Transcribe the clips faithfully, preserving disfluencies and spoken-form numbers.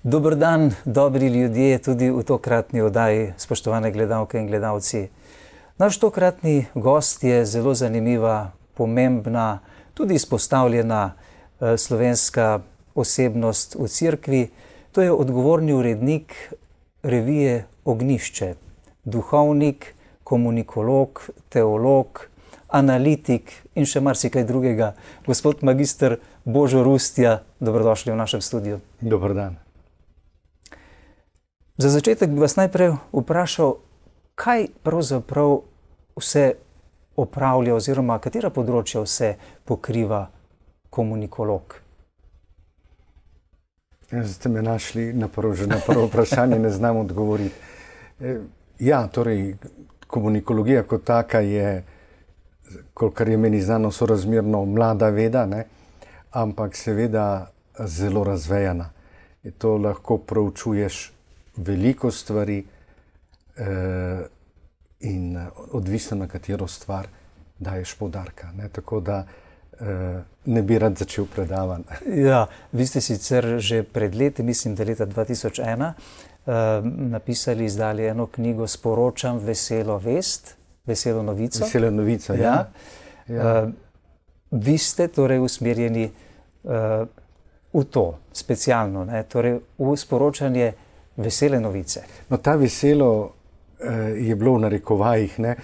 Dober dan, dobri ljudje, tudi v tokratni oddaji, spoštovane gledalke in gledalci. Naš tokratni gost je zelo zanimiva, pomembna, tudi izpostavljena eh, slovenska osebnost v cerkvi. To je odgovorni urednik revije Ognjišče, duhovnik, komunikolog, teolog, analitik in še marsikaj drugega. Gospod magister Božo Rustja, dobrodošli v našem studiu. Dober dan. Za začetek bi vas najprej vprašal, kaj pravzaprav vse opravlja oziroma katera področja vse pokriva komunikolog? Ste me našli na prvo, že na prvo vprašanje, ne znam odgovoriti. Ja, torej, komunikologija kot taka je, kolikor je meni znano, sorazmerno mlada veda, ne? Ampak seveda zelo razvejana. In to lahko proučuješ veliko stvari eh, in odvisno na katero stvar daješ poudarka. Ne? Tako da eh, ne bi rad začel predavati. Ja, vi ste sicer že pred leti, mislim, da leta dva tisoč ena, eh, napisali, izdali eno knjigo Sporočam veselo vest, veselo novico. Veselo novico, ja. ja. ja. Eh, vi ste torej usmerjeni eh, v to, specialno, ne? Torej v sporočanje vesele novice. No, ta veselo eh, je bilo v narekovajih, ne,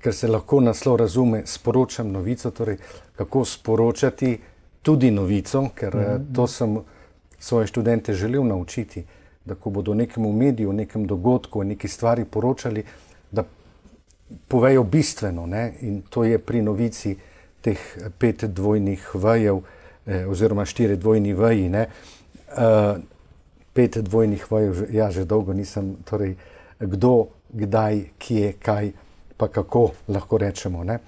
ker se lahko naslov razume, sporočam novico, torej kako sporočati tudi novico, ker mm -hmm. to sem svoje študente želel naučiti, da ko bodo nekemu mediju, nekem dogodku, neki stvari poročali, da povejo bistveno, ne, in to je pri novici teh pet dvojnih vejev, eh, oziroma štiri dvojni veji, ne, eh, pet dvojnih vajev, ja, že dolgo nisem, torej, kdo, kdaj, kje, kaj, pa kako, lahko rečemo, ne.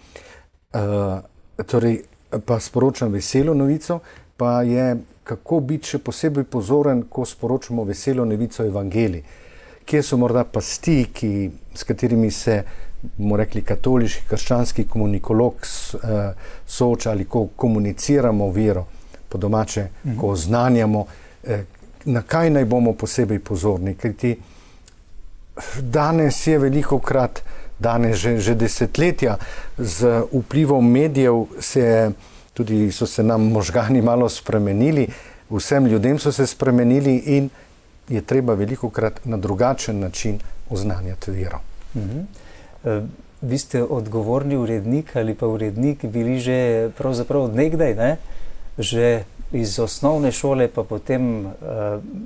Uh, torej, pa sporočam veselo novico, pa je, kako biti še posebej pozoren, ko sporočamo veselo novico evangeliji. Kje so morda pasti, ki, s katerimi se, bomo rekli, katoliški, krščanski komunikolog uh, sooča, ali ko komuniciramo vero, po domače, mhm. ko oznanjamo, eh, na kaj naj bomo posebej pozorni, ker ti danes je veliko krat, danes že, že desetletja z vplivom medijev se, tudi so se nam možgani malo spremenili, vsem ljudem so se spremenili in je treba veliko krat na drugačen način oznanjati vero. Mhm. E, vi ste odgovorni urednik ali pa urednik bili že pravzaprav od nekdaj, ne? Že iz osnovne šole, pa potem uh,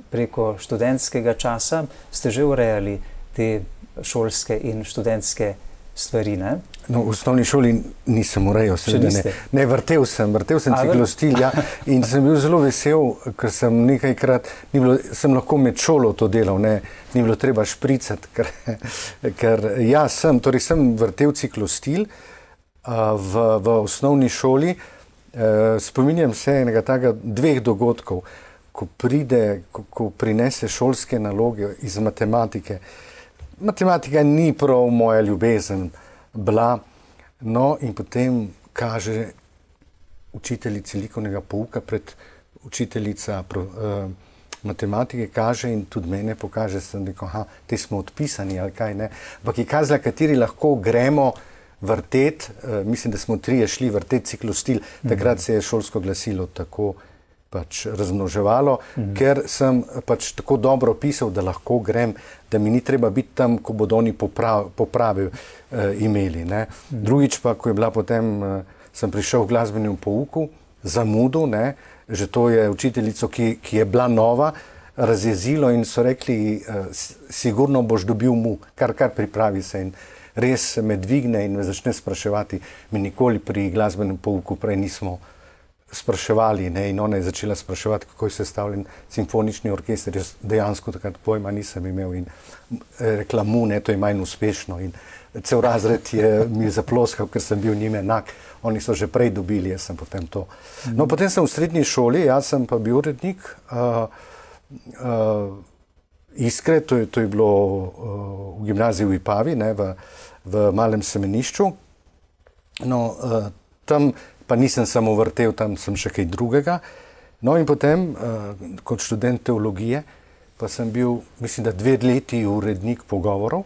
preko študentskega časa ste že urejali te šolske in študentske stvari, ne? No, v osnovni šoli nisem urejal, seveda ne. Ne, vrtel sem, vrtel sem ciklostil, ja, in sem bil zelo vesel, ker sem nekajkrat, ni bilo, sem lahko med šolo to delal, ne, ni bilo treba špricati, ker, ker ja, sem, torej sem vrtel ciklostil uh, v, v osnovni šoli. Spominjam se enega takega dveh dogodkov, ko pride, ko, ko prinese šolske naloge iz matematike. Matematika ni prav moja ljubezen bila, no in potem kaže učiteljici likovnega pouka, pred učiteljica pro, uh, matematike kaže in tudi mene pokaže, sem rekel, aha, te smo odpisani ali kaj, ne, ampak je kazala, kateri lahko gremo vrtet, mislim, da smo trije šli vrtet ciklostil, takrat se je šolsko glasilo tako pač razmnoževalo, mm-hmm. ker sem pač tako dobro pisal, da lahko grem, da mi ni treba biti tam, ko bodo oni poprav, popravil eh, imeli. Ne. Mm-hmm. Drugič pa, ko je bila potem, eh, sem prišel v glasbenem pouku, zamudu, ne, že to je učiteljico, ki, ki je bila nova, razjezilo in so rekli, eh, sigurno boš dobil mu, kar, kar pripravi se in res me dvigne in me začne spraševati. Mi nikoli pri glasbenem pouku prej nismo spraševali, ne? In ona je začela spraševati, kako je sestavljen simfonični orkester. Jaz dejansko takrat pojma nisem imel in rekla mu, ne, to je manj uspešno. In cel razred je mi zaploskal, ker sem bil njim enak. Oni so že prej dobili, jaz sem potem to. No, potem sem v srednji šoli, jaz sem pa bil urednik uh, uh, Iskre, to je, to je bilo uh, v gimnaziji v Ipavi, ne, v, v Malem Semenišču. No, uh, tam pa nisem samo vrtel, tam sem še kaj drugega. No in potem, uh, kot študent teologije, pa sem bil, mislim, da dve leti urednik pogovorov.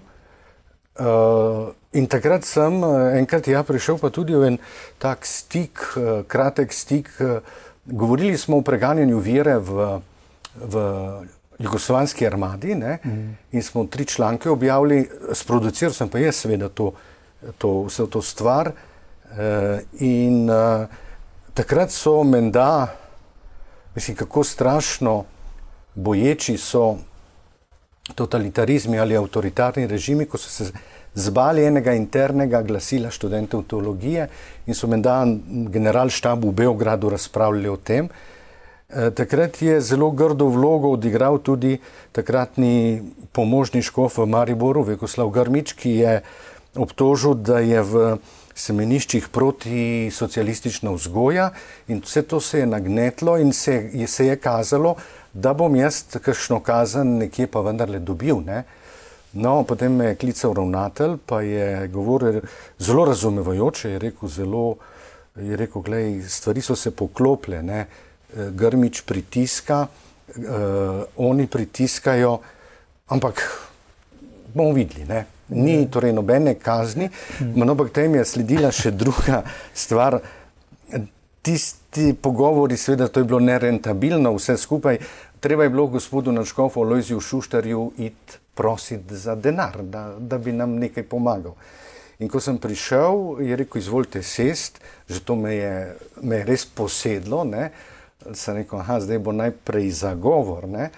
Uh, in takrat sem enkrat ja prišel pa tudi v en tak stik, uh, kratek stik. Uh, govorili smo o preganjanju vere v, v jugoslovanski armadi, ne? Mm. In smo tri članke objavili, sproduciral sem pa jaz seveda to, to, vse to stvar. Uh, in uh, takrat so menda, mislim, kako strašno boječi so totalitarizmi ali avtoritarni režimi, ko so se zbali enega internega glasila študentov teologije in so menda generalštab v Beogradu razpravljali o tem. E, takrat je zelo grdo vlogo odigral tudi takratni pomožni škof v Mariboru, Vjekoslav Grmič, ki je obtožil, da je v semeniščih proti socialistična vzgoja in vse to se je nagnetlo in se je, se je kazalo, da bom jaz kakšno kazen nekje pa vendarle dobil, ne. No, potem me je klical ravnatelj, pa je govoril zelo razumevajoče, je rekel zelo, je rekel, glej, stvari so se poklopile, ne, Grmič pritiska, eh, oni pritiskajo, ampak bomo videli, ne. Ni torej nobene kazni, no, ampak tem je sledila še druga stvar. Tisti pogovori, seveda, to je bilo nerentabilno vse skupaj, treba je bilo gospodu nadškofu Alojziju Šuštarju iti prositi za denar, da, da bi nam nekaj pomagal. In ko sem prišel, je rekel, izvolite sest, že to me je, me je res posedlo, ne. Sem rekel, aha, zdaj bo najprej zagovor, ne.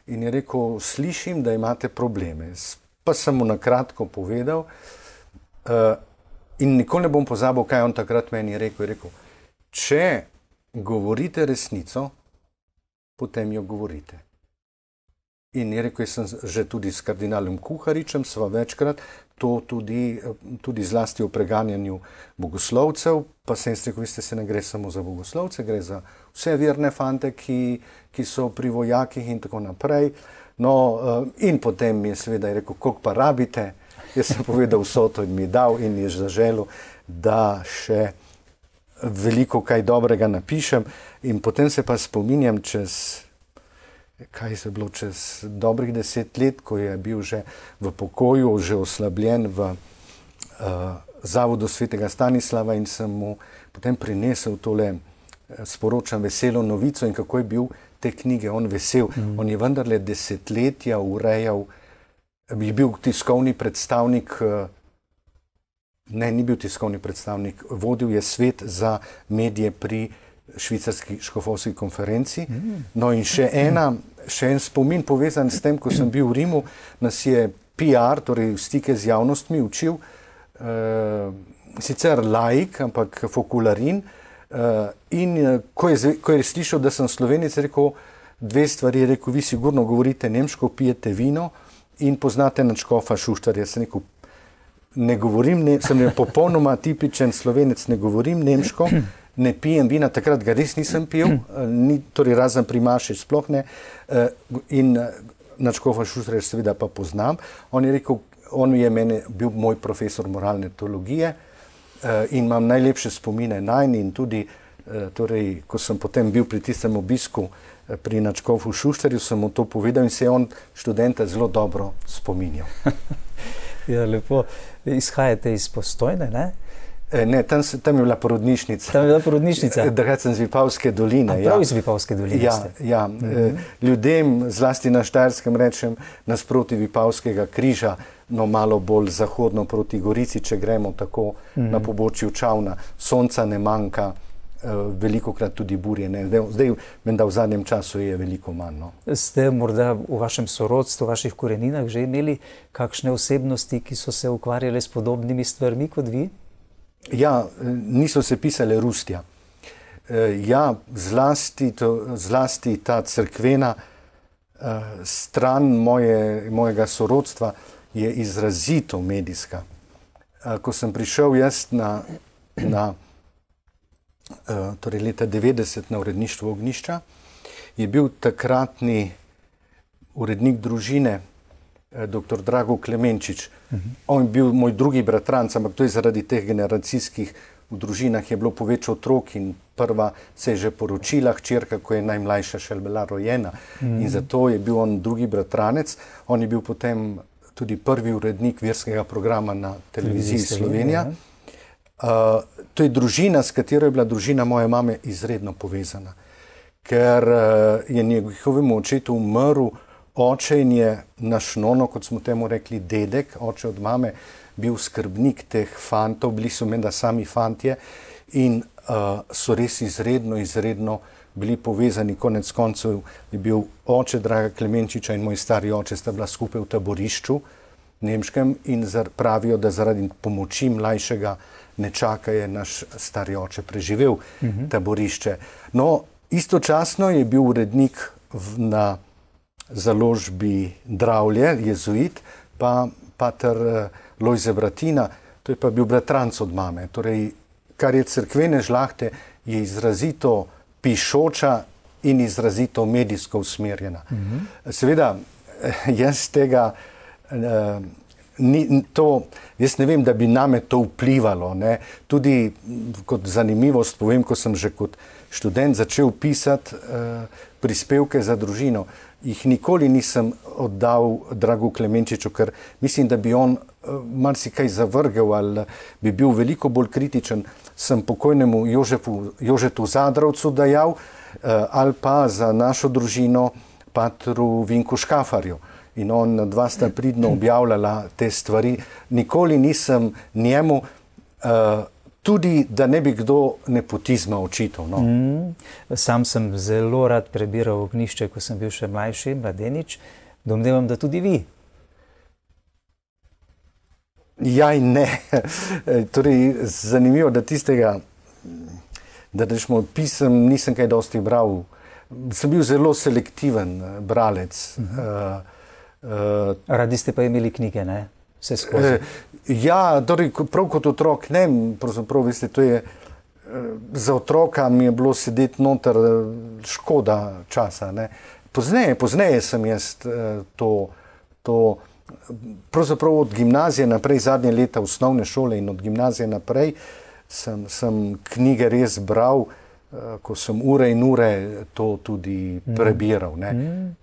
In je rekel, slišim, da imate probleme. Pa sem mu na kratko povedal uh, in nikoli ne bom pozabil, kaj on takrat meni je rekel. Je rekel, če govorite resnico, potem jo govorite. In je rekel, jaz sem že tudi s kardinalom Kuharičem, sva večkrat, to tudi, tudi zlasti o preganjanju bogoslovcev, pa sem jaz rekel, veste, se ne gre samo za bogoslovce, gre za vse verne fante, ki, ki so pri vojakih in tako naprej. No, in potem mi je seveda rekel, koliko pa rabite, jaz sem povedal vso to in mi je dal in je zaželil, da še veliko kaj dobrega napišem. In potem se pa spominjam čez, kaj se je bilo, čez dobrih deset let, ko je bil že v pokoju, že oslabljen v uh, Zavodu svetega Stanislava in sem mu potem prinesel tole, sporočam veselo novico in kako je bil te knjige on vesel. Mm. On je vendarle desetletja urejal, je bil tiskovni predstavnik, ne, ni bil tiskovni predstavnik, vodil je svet za medije pri švicarski škofovski konferenci. Mm. No in še ena, še en spomin povezan s tem, ko sem bil v Rimu, nas je P R, torej stike z javnostmi, učil, uh, sicer laik, ampak fokularin. Uh, in uh, ko, je, ko je slišal, da sem Slovenec, je rekel dve stvari, je rekel, vi sigurno govorite nemško, pijete vino in poznate nadškofa Šuštarja. Sem rekel, ne govorim, ne, sem popolnoma tipičen Slovenec, ne govorim nemško, ne pijem vina, takrat ga res nisem pil, uh, ni, torej razen pri maši sploh ne, uh, in uh, nadškofa Šuštarja seveda pa poznam. On je rekel, on je mene, bil moj profesor moralne teologije, Uh, in imam najlepše spomine nanj in tudi, uh, torej, ko sem potem bil pri tistem obisku uh, pri nadškofu Šuštarju, sem mu to povedal in se je on študenta zelo dobro spominjal. Ja, lepo. Izhajate iz Postojne, ne? E, ne, tam, tam je bila porodnišnica. Tam je bila porodnišnica? Takrat sem z Vipavske doline. A prav ja. Iz Vipavske doline ja, ste? Ja, mm-hmm. Ljudem, zlasti na Štajerskem, rečem, nasproti Vipavskega križa, no malo bolj zahodno proti Gorici, če gremo tako mm-hmm. na pobočju Čavna. Sonca ne manjka, veliko krat tudi burje. Ne. Zdaj, menda v zadnjem času je veliko manj. No. Ste morda v vašem sorodstvu, v vaših koreninah že imeli kakšne osebnosti, ki so se ukvarjale s podobnimi stvarmi kot vi? Ja, niso se pisale Rustja. Ja, zlasti, to, zlasti ta cerkvena stran moje, mojega sorodstva je izrazito medijska. Ko sem prišel jaz na, na torej leta devetdeset na uredništvo Ognjišča, je bil takratni urednik družine doktor Drago Klemenčič. Uh-huh. On je bil moj drugi bratranc, ampak to je zaradi teh generacijskih v družinah je bilo poveč otrok in prva se je že poročila, hčerka, ko je najmlajša še bila rojena. Mm. In zato je bil on drugi bratranec. On je bil potem tudi prvi urednik verskega programa na televiziji Slovenija. Uh, to je družina, s katero je bila družina moje mame izredno povezana. Ker uh, je njegovemu očetu umrl oče in je naš nono, kot smo temu rekli, dedek, oče od mame, bil skrbnik teh fantov, bili so menda sami fantje in uh, so res izredno, izredno bili povezani. Konec koncev je bil oče Draga Klemenčiča in moj stari oče sta bila skupaj v taborišču nemškem in zar, pravijo, da zaradi pomoči mlajšega nečaka je naš stari oče preživel uh-huh. taborišče. No, istočasno je bil urednik v, na založbi Dravlje, jezuit, pa pater uh, Lojze Bratina, to je pa bil bratranc od mame. Torej, kar je cerkvene žlahte, je izrazito pišoča in izrazito medijsko usmerjena. Mm-hmm. Seveda, jaz tega, uh, ni, to, jaz ne vem, da bi name to vplivalo. Ne. Tudi kot zanimivost povem, ko sem že kot študent začel pisati uh, prispevke za družino, jih nikoli nisem oddal Dragu Klemenčiču, ker mislim, da bi on uh, marsikaj zavrgel ali bi bil veliko bolj kritičen, sem pokojnemu Jožefu, Jožetu Zadravcu dajal uh, ali pa za našo družino patru Vinku Škafarju. In on dva sta pridno objavljala te stvari. Nikoli nisem njemu, uh, tudi da ne bi kdo nepotizma očital. No. Mm, sam sem zelo rad prebiral Ognjišče, ko sem bil še mlajši, mladenič. Domnevam, da tudi vi. Ja in ne. Torej, zanimivo, da tistega, da rečemo, pisem nisem kaj dosti bral. Sem bil zelo selektiven bralec. Uh-huh. uh, Uh, Radi ste pa imeli knjige, ne? Vse skozi. Uh, ja, torej, prav kot otrok, ne, pravzaprav, veste, to je, uh, za otroka mi je bilo sedeti noter uh, škoda časa, ne. Pozneje, pozneje sem jaz uh, to, to, pravzaprav od gimnazije naprej, zadnje leta osnovne šole in od gimnazije naprej, sem, sem knjige res bral, uh, ko sem ure in ure to tudi prebiral, ne. Mm.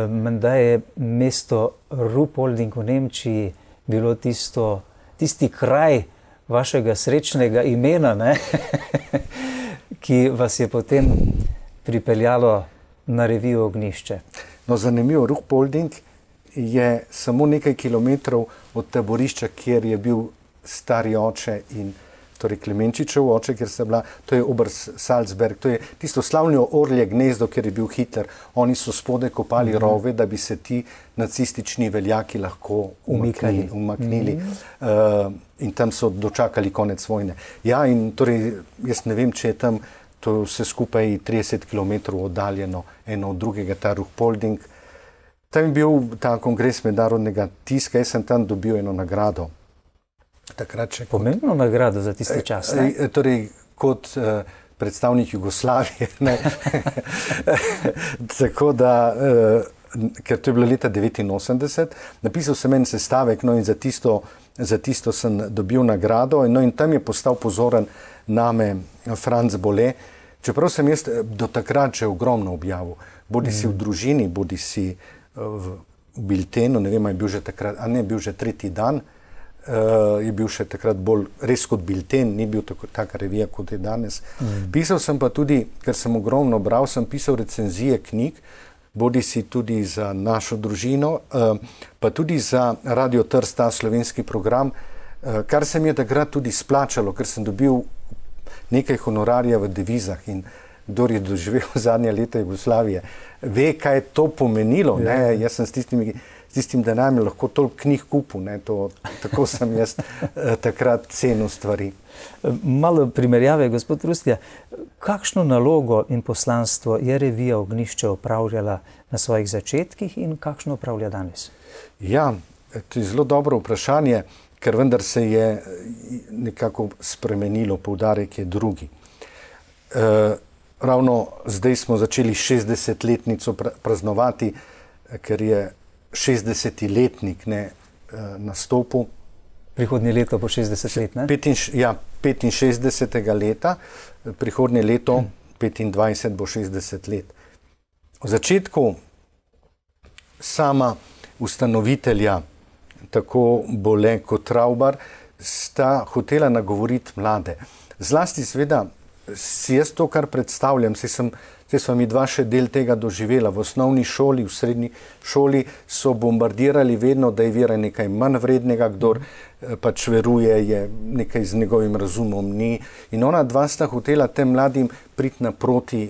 Menda je mesto Ruhpolding v Nemčiji bilo tisto, tisti kraj vašega srečnega imena, ne? ki vas je potem pripeljalo na revijo Ognjišče. No, zanimivo, Ruhpolding je samo nekaj kilometrov od taborišča, kjer je bil stari oče in torej Klemenčičev oče, kjer sta bila, to je Obersalzberg, to je tisto slavno orlje gnezdo, kjer je bil Hitler. Oni so spode kopali mm-hmm. rove, da bi se ti nacistični veljaki lahko umaknili. umaknili. Mm-hmm. uh, in tam so dočakali konec vojne. Ja, in torej, jaz ne vem, če je tam to vse skupaj trideset kilometrov oddaljeno eno od drugega, ta Ruhpolding. Tam je bil ta kongres mednarodnega tiska, jaz sem tam dobil eno nagrado. Takrat še kot, pomembno nagrado za tiste čas, ne? E, torej, kot uh, predstavnik Jugoslavije, ne? Tako da, uh, ker to je bilo leta devetinosemdeset, napisal sem en sestavek, no in za tisto, za tisto sem dobil nagrado, no in tam je postal pozoren name Franc Bole, čeprav sem jaz do takrat že ogromno objavil, bodi mm. si v družini, bodi si uh, v, v biltenu, ne vem, je bil že takrat, a ne, bil že tretji dan, Uh, je bil še takrat bolj res kot bilten, ni bil tako, taka revija, kot je danes. Mm. Pisal sem pa tudi, ker sem ogromno bral, sem pisal recenzije knjig, bodi si tudi za našo družino, uh, pa tudi za Radio Trst, ta slovenski program, uh, kar se mi je takrat tudi splačalo, ker sem dobil nekaj honorarja v devizah in kdor je doživel zadnja leta Jugoslavije, ve, kaj je to pomenilo. Ja. Ne? Jaz sem s tistimi s tistim denarjem lahko toliko knjig kupil, ne, to, tako sem jaz eh, takrat cenil stvari. Malo primerjave, gospod Rustja, kakšno nalogo in poslanstvo je revija Ognjišče opravljala na svojih začetkih in kakšno opravlja danes? Ja, to je zelo dobro vprašanje, ker vendar se je nekako spremenilo, poudarek je drugi. E, ravno zdaj smo začeli šestdesetletnico praznovati, ker je šestdeseti letnik ne, nastopu prihodnje leto bo šestdeset let, ne? Ja, petinšestdesetega leta, prihodnje leto petindvajset bo šestdeset let. V začetku sama ustanovitelja, tako Bole kot Traubar, sta hotela nagovoriti mlade. Zlasti seveda si jaz to, kar predstavljam, se sem, se sem mi dva še del tega doživela. V osnovni šoli, v srednji šoli so bombardirali vedno, da je vera nekaj manj vrednega, kdor pač veruje, je nekaj z njegovim razumom ni. In ona dva sta hotela tem mladim priti naproti,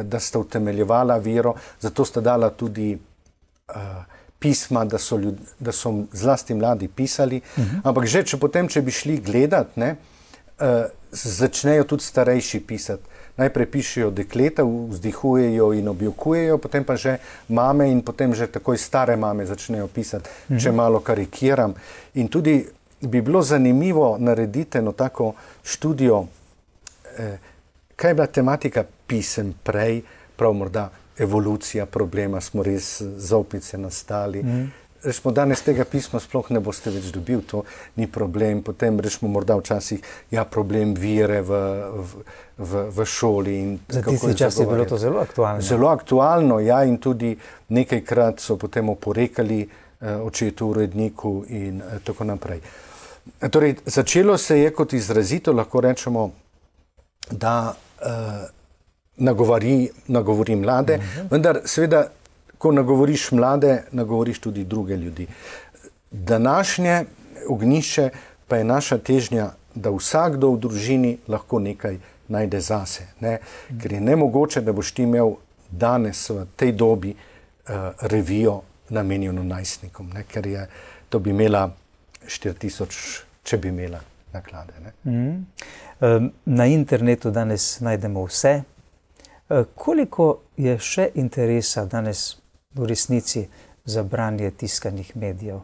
da sta utemeljevala vero, zato sta dala tudi uh, pisma, da so, ljud, da so zlasti mladi pisali. Uh-huh. Ampak že, če potem, če bi šli gledat, ne, uh, začnejo tudi starejši pisati. Najprej pišejo dekleta, vzdihujejo in objokujejo, potem pa že mame in potem že takoj stare mame začnejo pisati, mm-hmm. če malo karikiram. In tudi bi bilo zanimivo narediti eno tako študijo, eh, kaj je bila tematika pisem prej, prav morda evolucija problema, smo res zaupnice nastali. Mm-hmm. Rečemo, danes tega pisma sploh ne boste več dobil, to ni problem. Potem rečemo, morda včasih, ja, problem vire v, v, v, v šoli. In za tisti čas je bilo to zelo aktualno. Zelo aktualno, ja, in tudi nekajkrat so potem oporekali eh, očetu uredniku in eh, tako naprej. Torej, začelo se je kot izrazito, lahko rečemo, da eh, nagovori, nagovori mlade, uh-huh. vendar seveda, ko nagovoriš mlade, nagovoriš tudi druge ljudi. Današnje ognjišče pa je naša težnja, da vsakdo v družini lahko nekaj najde zase. Ne? Ker je nemogoče, da boš ti imel danes v tej dobi uh, revijo namenjeno najstnikom, ne? Ker je, to bi imela štiri tisoč, če bi imela naklade. Ne? Mm. Na internetu danes najdemo vse. Koliko je še interesa danes v resnici za branje tiskanih medijev?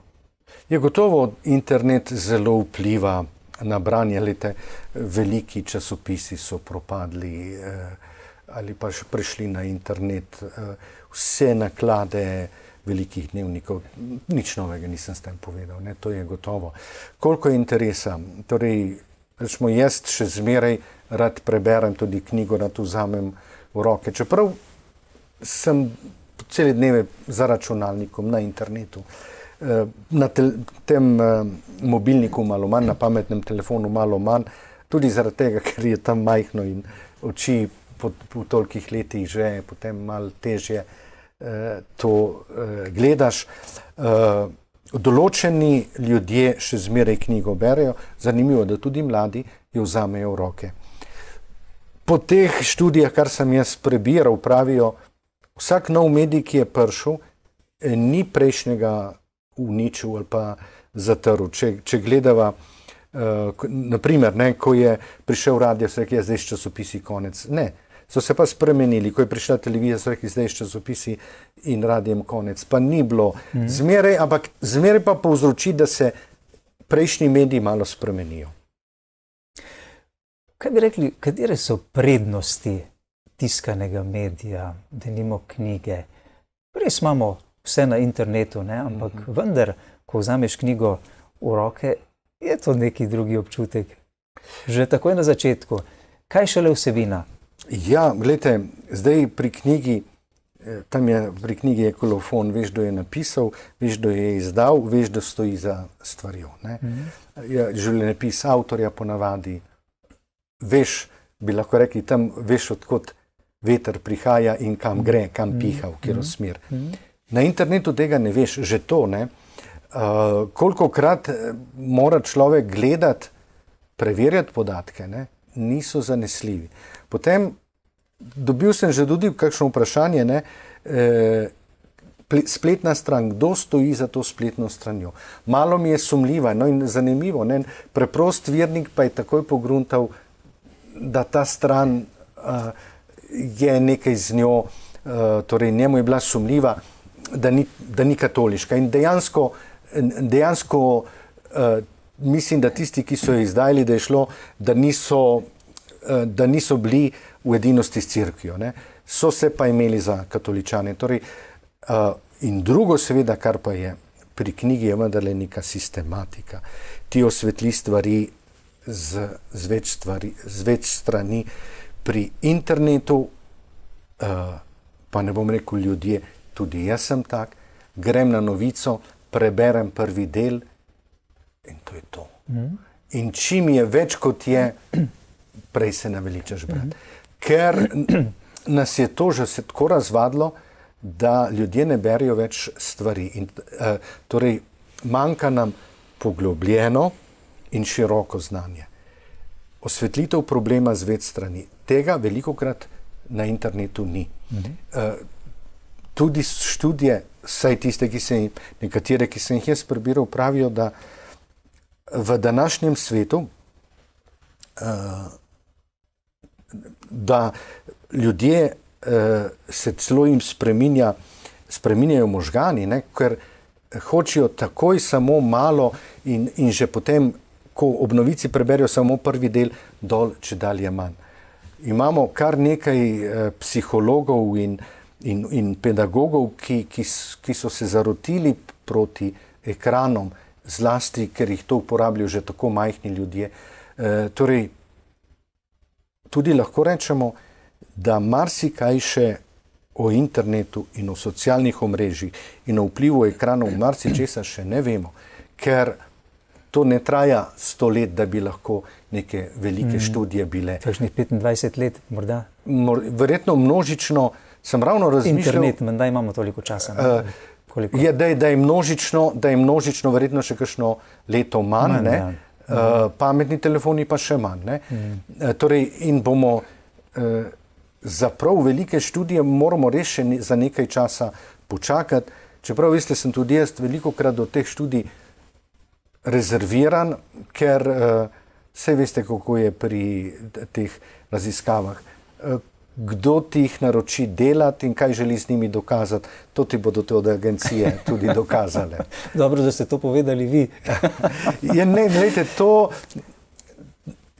Je gotovo internet zelo vpliva na branje. Lete, veliki časopisi so propadli eh, ali pa še prišli na internet. Eh, vse naklade velikih dnevnikov, nič novega nisem s tem povedal, ne, to je gotovo. Koliko je interesa? Torej, rečemo, jaz še zmeraj rad preberem tudi knjigo, rad vzamem v roke. Čeprav sem cele dneve za računalnikom na internetu, na tel, tem mobilniku malo manj, na pametnem telefonu malo manj, tudi zaradi tega, ker je tam majhno in oči po, po tolikih letih že potem malo težje eh, to eh, gledaš. Eh, določeni ljudje še zmeraj knjigo berejo, zanimivo, da tudi mladi jo vzamejo v roke. Po teh študijah, kar sem jaz prebiral, pravijo, vsak nov medij, ki je prišel, ni prejšnjega uničil ali pa zatrl. Če, če gledava, uh, naprimer, ne, ko je prišel radio, so rekli, zdaj časopisi konec. Ne, so se pa spremenili. Ko je prišla televizija, so rekli, zdaj časopisi in radijem konec. Pa ni bilo mm. zmeraj, ampak zmeraj pa povzroči, da se prejšnji mediji malo spremenijo. Kaj bi rekli, katere so prednosti tiskanega medija, denimo knjige? Res imamo vse na internetu, ne? Ampak mm-hmm. vendar, ko vzameš knjigo v roke, je to neki drugi občutek. Že takoj na začetku. Kaj šele vsebina? Ja, gledajte, zdaj pri knjigi, tam je pri knjigi je kolofon, veš, kdo je napisal, veš, kdo je izdal, veš, da stoji za stvarjo. Ne? Mm-hmm. Ja, življenjepis avtorja ponavadi, veš, bi lahko rekli, tam veš, odkot veter prihaja in kam gre, kam piha, v katero smer. Na internetu tega ne veš, že to, ne. Uh, kolikokrat mora človek gledati, preverjati podatke, ne, niso zanesljivi. Potem dobil sem že tudi kakšno vprašanje, ne, eh, spletna stran, kdo stoji za to spletno stranjo. Malo mi je sumljiva, no in zanimivo, ne, preprost vernik pa je takoj pogruntal, da ta stran uh, je nekaj z njo, uh, torej njemu je bila sumljiva, da ni, da ni katoliška. In dejansko, dejansko uh, mislim, da tisti, ki so jo izdajali, da je šlo, da niso, uh, da niso bili v edinosti s cerkvijo, ne. So se pa imeli za katoličane. Torej, uh, in drugo seveda, kar pa je pri knjigi je vendarle neka sistematika. Ti osvetli stvari z, z, več stvari, z več strani. Pri internetu, uh, pa ne bom rekel ljudje, tudi jaz sem tak, grem na novico, preberem prvi del in to je to. Mm. In čim je več kot je, prej se naveličaš brati. Mm. Ker nas je to že se tako razvadilo, da ljudje ne berijo več stvari. In, uh, torej, manjka nam poglobljeno in široko znanje. Osvetlitev problema z več strani. Tega velikokrat na internetu ni. Mhm. Uh, tudi študije, saj tiste, ki se, nekatere, ki sem jih jaz prebiral, pravijo, da v današnjem svetu uh, da ljudje uh, se celo jim spreminja, spreminjajo možgani, ne, ker hočejo takoj samo malo in, in že potem, ko ob novici preberijo samo prvi del, dol, če dalje manj. Imamo kar nekaj eh, psihologov in, in, in pedagogov, ki, ki, ki so se zarotili proti ekranom, zlasti, ker jih to uporabljajo že tako majhni ljudje. E, torej, tudi lahko rečemo, da marsikaj še o internetu in o socialnih omrežjih in o vplivu ekranov marsičesa še ne vemo, ker to ne traja sto let, da bi lahko neke velike mm. študije bile. Kakšnih petindvajset let, morda? Mor, verjetno množično, sem ravno razmišljal... Internet, menda imamo toliko časa. Uh, je, da, je, da, je množično, da je množično verjetno še kakšno leto manj, manj ne? Ja. Uh, pametni telefoni pa še manj. Ne? Mm. Uh, torej, in bomo uh, za prav velike študije moramo res še ne, za nekaj časa počakati. Čeprav, veste, sem tudi jaz velikokrat do teh študij rezerviran, ker uh, vse veste, kako je pri teh raziskavah. Uh, kdo ti jih naroči delati in kaj želi z njimi dokazati, to ti bodo te od agencije tudi dokazale. Dobro, da ste to povedali vi. ja, ne, gledajte, to...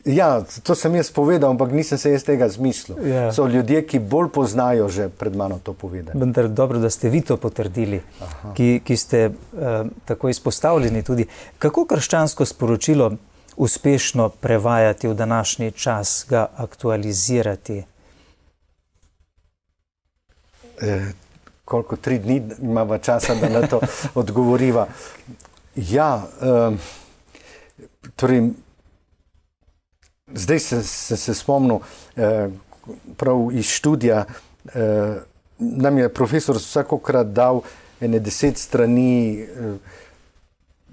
Ja, to sem jaz povedal, ampak nisem se jaz tega zmislil. Ja. So ljudje, ki bolj poznajo že pred mano to povedali. Vendar dobro, da ste vi to potrdili, ki, ki ste uh, tako izpostavljeni tudi. Kako krščansko sporočilo uspešno prevajati v današnji čas, ga aktualizirati? E, koliko tri dni imava časa, da na to odgovoriva? Ja, um, torej, zdaj se, se, se spomnil, eh, prav iz študija, eh, nam je profesor vsakokrat dal ene deset strani eh,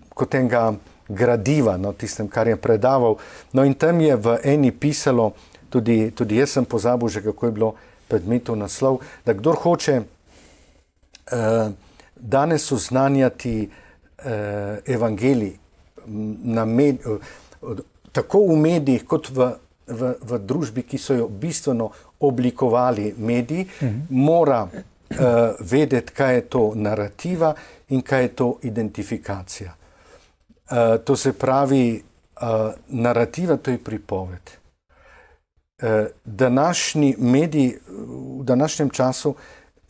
kot enega gradiva, no, tistem, kar je predaval. No in tam je v eni pisalo, tudi, tudi jaz sem pozabil že, kako je bilo predmetov naslov, da kdor hoče eh, danes oznanjati eh, evangelij na med, eh, tako v medijih, kot v, v, v družbi, ki so jo bistveno oblikovali mediji, mhm. mora uh, vedeti, kaj je to narativa in kaj je to identifikacija. Uh, to se pravi, uh, narativa, to je pripoved. Uh, današnji mediji v današnjem času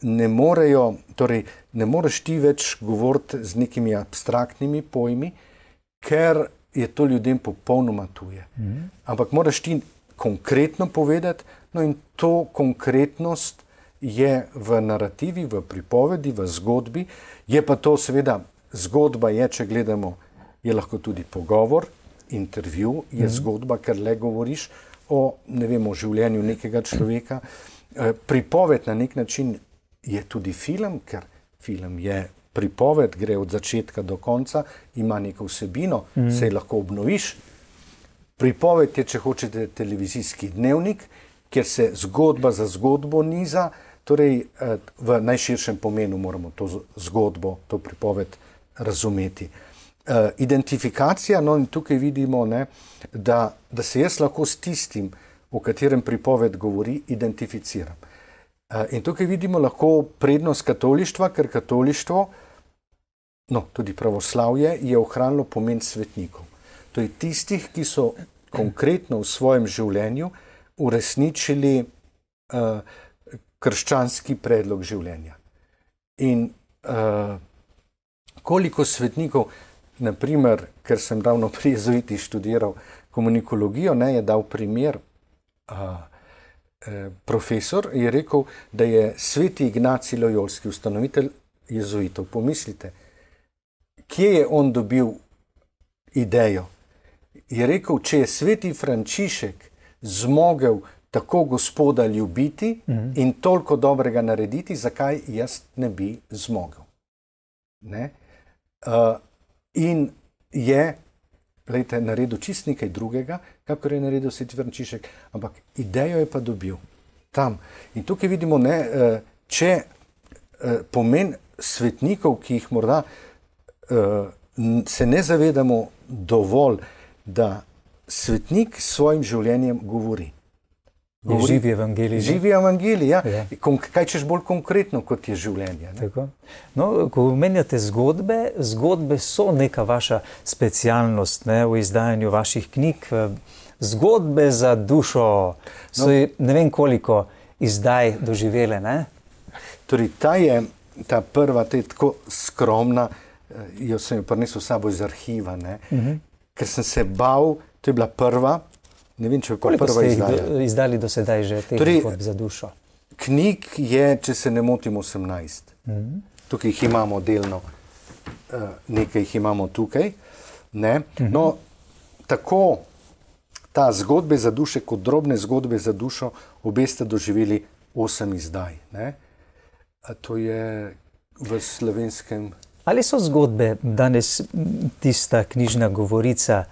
ne morejo, torej ne moreš ti več govoriti z nekimi abstraktnimi pojmi, ker je to ljudem popolnoma tuje. Mm. Ampak moraš ti konkretno povedati, no in to konkretnost je v narativi, v pripovedi, v zgodbi. Je pa to seveda, zgodba je, če gledamo, je lahko tudi pogovor, intervju, je mm. zgodba, ker le govoriš o, ne vem, o življenju nekega človeka. E, pripoved na nek način je tudi film, ker film je pripoved, gre od začetka do konca, ima neko vsebino, mm. se lahko obnoviš. Pripoved je, če hočete, televizijski dnevnik, kjer se zgodba za zgodbo niza, torej v najširšem pomenu moramo to zgodbo, to pripoved razumeti. Identifikacija, no in tukaj vidimo, ne, da, da se jaz lahko s tistim, o katerem pripoved govori, identificiram. In tukaj vidimo lahko prednost katolištva, ker katolištvo, no, tudi pravoslavje, je ohranilo pomen svetnikov. To je tistih, ki so konkretno v svojem življenju uresničili uh, krščanski predlog življenja. In uh, koliko svetnikov, naprimer, ker sem ravno pri jezuitih študiral komunikologijo, ne, je dal primer, a, e, profesor je rekel, da je sveti Ignacij Lojolski, ustanovitelj jezuitov. Pomislite, kje je on dobil idejo? Je rekel, če je sveti Frančišek zmogel tako Gospoda ljubiti mm-hmm. in toliko dobrega narediti, zakaj jaz ne bi zmogel? Ne? Uh, in je glejte, naredil čist nekaj drugega, kakor je naredil sveti Frančišek, ampak idejo je pa dobil tam. In tukaj vidimo, ne, uh, če uh, pomen svetnikov, ki jih morda uh, se ne zavedamo dovolj, da svetnik s svojim življenjem govori. govori živi evangelij. Živi evangelij, ja. ja. Kaj češ bolj konkretno, kot je življenje. Ne? No, ko omenjate zgodbe, zgodbe so neka vaša specialnost, ne, v izdajanju vaših knjig. Zgodbe za dušo so, no, ne vem koliko izdaj doživele, ne? Torej, ta je, ta prva, ta je tako skromna, jo sem jo prinesel s sabo iz arhiva, ne? Uh-huh. Ker sem se bal, to je bila prva, ne vem, če je koliko prva ste izdaja. jih izdali do sedaj že teh torej, zgodb za dušo? Knjig je, če se ne motim, osemnajst. Uh-huh. Tukaj jih imamo delno, nekaj jih imamo tukaj, ne? Uh-huh. No, tako ta zgodbe za duše kot drobne zgodbe za dušo, obe ste doživeli osem izdaj, ne? A to je v slovenskem... Ali so zgodbe danes tista knjižna govorica,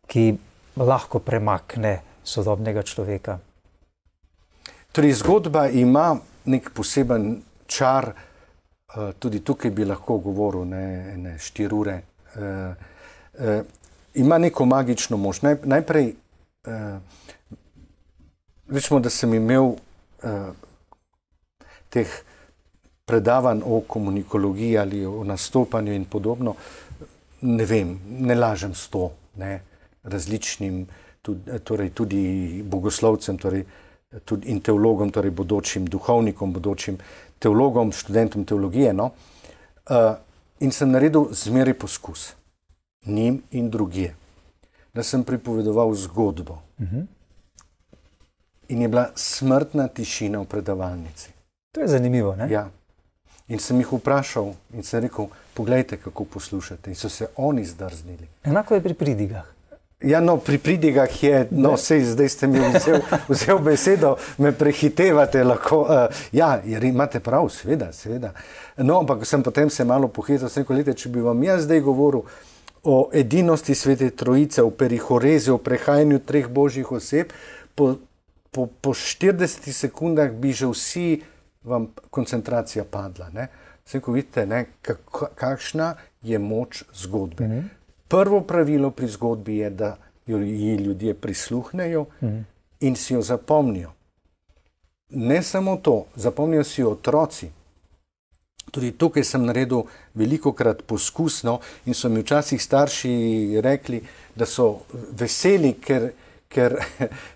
ki lahko premakne sodobnega človeka? Torej, zgodba ima nek poseben čar, tudi tukaj bi lahko govoril ne, ne štiri ure. E, e, ima neko magično moč. Naj, najprej, e, rečemo, da sem imel e, teh predavanj o komunikologiji ali o nastopanju in podobno, ne vem, ne lažem sto, ne, različnim, tudi, torej tudi bogoslovcem, torej tudi in teologom, torej bodočim duhovnikom, bodočim teologom, študentom teologije, no, uh, in sem naredil zmeraj poskus, njim in drugje, da sem pripovedoval zgodbo. Uh-huh. In je bila smrtna tišina v predavalnici. To je zanimivo, ne? Ja. In sem jih vprašal in sem rekel, poglejte, kako poslušate. In so se oni zdrznili. Enako je pri pridigah. Ja, no, pri pridigah je, no, sej, zdaj ste mi vzel, vzel besedo, me prehitevate lahko. Uh, ja, jer imate prav, seveda, seveda. No, ampak sem potem se malo pohezal, sem rekel, če bi vam jaz zdaj govoril o edinosti Svete Trojice, o perihorezi, o prehajanju treh božjih oseb, po, po, po štiridesetih sekundah bi že vsi vam koncentracija padla. Ne? Vse, ko vidite, ne, kakšna je moč zgodbe. Mm-hmm. Prvo pravilo pri zgodbi je, da jo ljudje prisluhnejo mm-hmm. in si jo zapomnijo. Ne samo to, zapomnijo si jo otroci. Tudi tukaj sem naredil velikokrat poskusno in so mi včasih starši rekli, da so veseli, ker, ker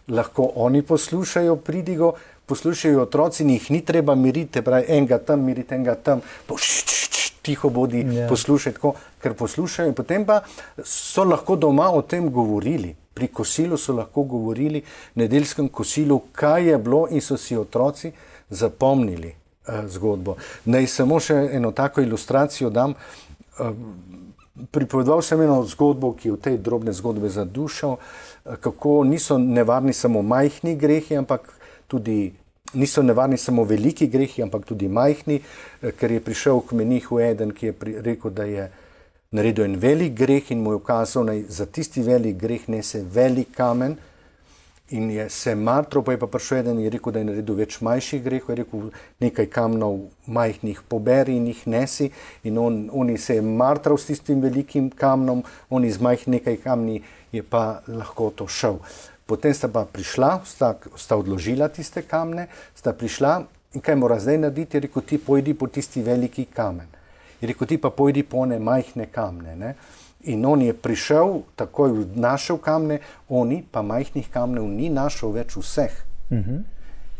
lahko oni poslušajo pridigo, poslušajo otroci in jih ni treba miriti, pravi, enega tam miriti, enega tam, pa š, š, š, tiho bodi, yeah. poslušaj tako, ker poslušajo. In potem pa so lahko doma o tem govorili. Pri kosilu so lahko govorili, nedeljskem kosilu, kaj je bilo in so si otroci zapomnili uh, zgodbo. Naj samo še eno tako ilustracijo dam. Uh, pripovedoval sem eno zgodbo, ki je v tej drobne zgodbe za dušo, uh, kako niso nevarni samo majhni grehi, ampak tudi niso nevarni samo veliki grehi, ampak tudi majhni, ker je prišel k menihu eden, ki je pri, rekel, da je naredil en velik greh in mu je ukazal, da za tisti velik greh nese velik kamen in je se matral, pa je pa prišel eden in je rekel, da je naredil več manjših grehov, je rekel, nekaj kamnov majhnih poberi in jih nesi in on, on se je matral s tistim velikim kamnom, on iz majhnih nekaj kamni je pa lahko to šel. Potem sta pa prišla, sta, sta odložila tiste kamne, sta prišla in kaj mora zdaj narediti, je rekel, ti pojdi po tisti veliki kamen. Je rekel, ti pa pojdi po one majhne kamne. Ne? In on je prišel, takoj našel kamne, oni pa majhnih kamnev ni našel več vseh. Uh-huh.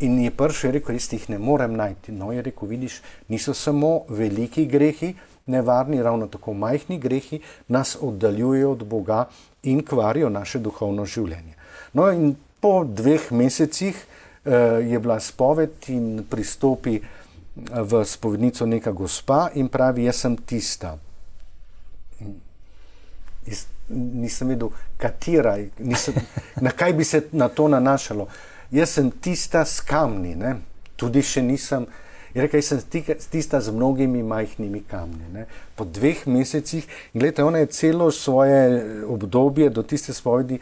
In je prišel, je rekel, jaz jih ne morem najti. No, je rekel, vidiš, niso samo veliki grehi, nevarni, ravno tako majhni grehi nas oddaljujejo od Boga in kvarijo naše duhovno življenje. No in po dveh mesecih eh, je bila spoved in pristopi v spovednico neka gospa in pravi, jaz sem tista. Jaz nisem vedel, katera, nisem, na kaj bi se na to nanašalo. Jaz sem tista s kamni, ne? Tudi še nisem, je rekel, jaz sem tista z mnogimi majhnimi kamni. Ne? Po dveh mesecih, gledajte, ona je celo svoje obdobje do tiste spovedi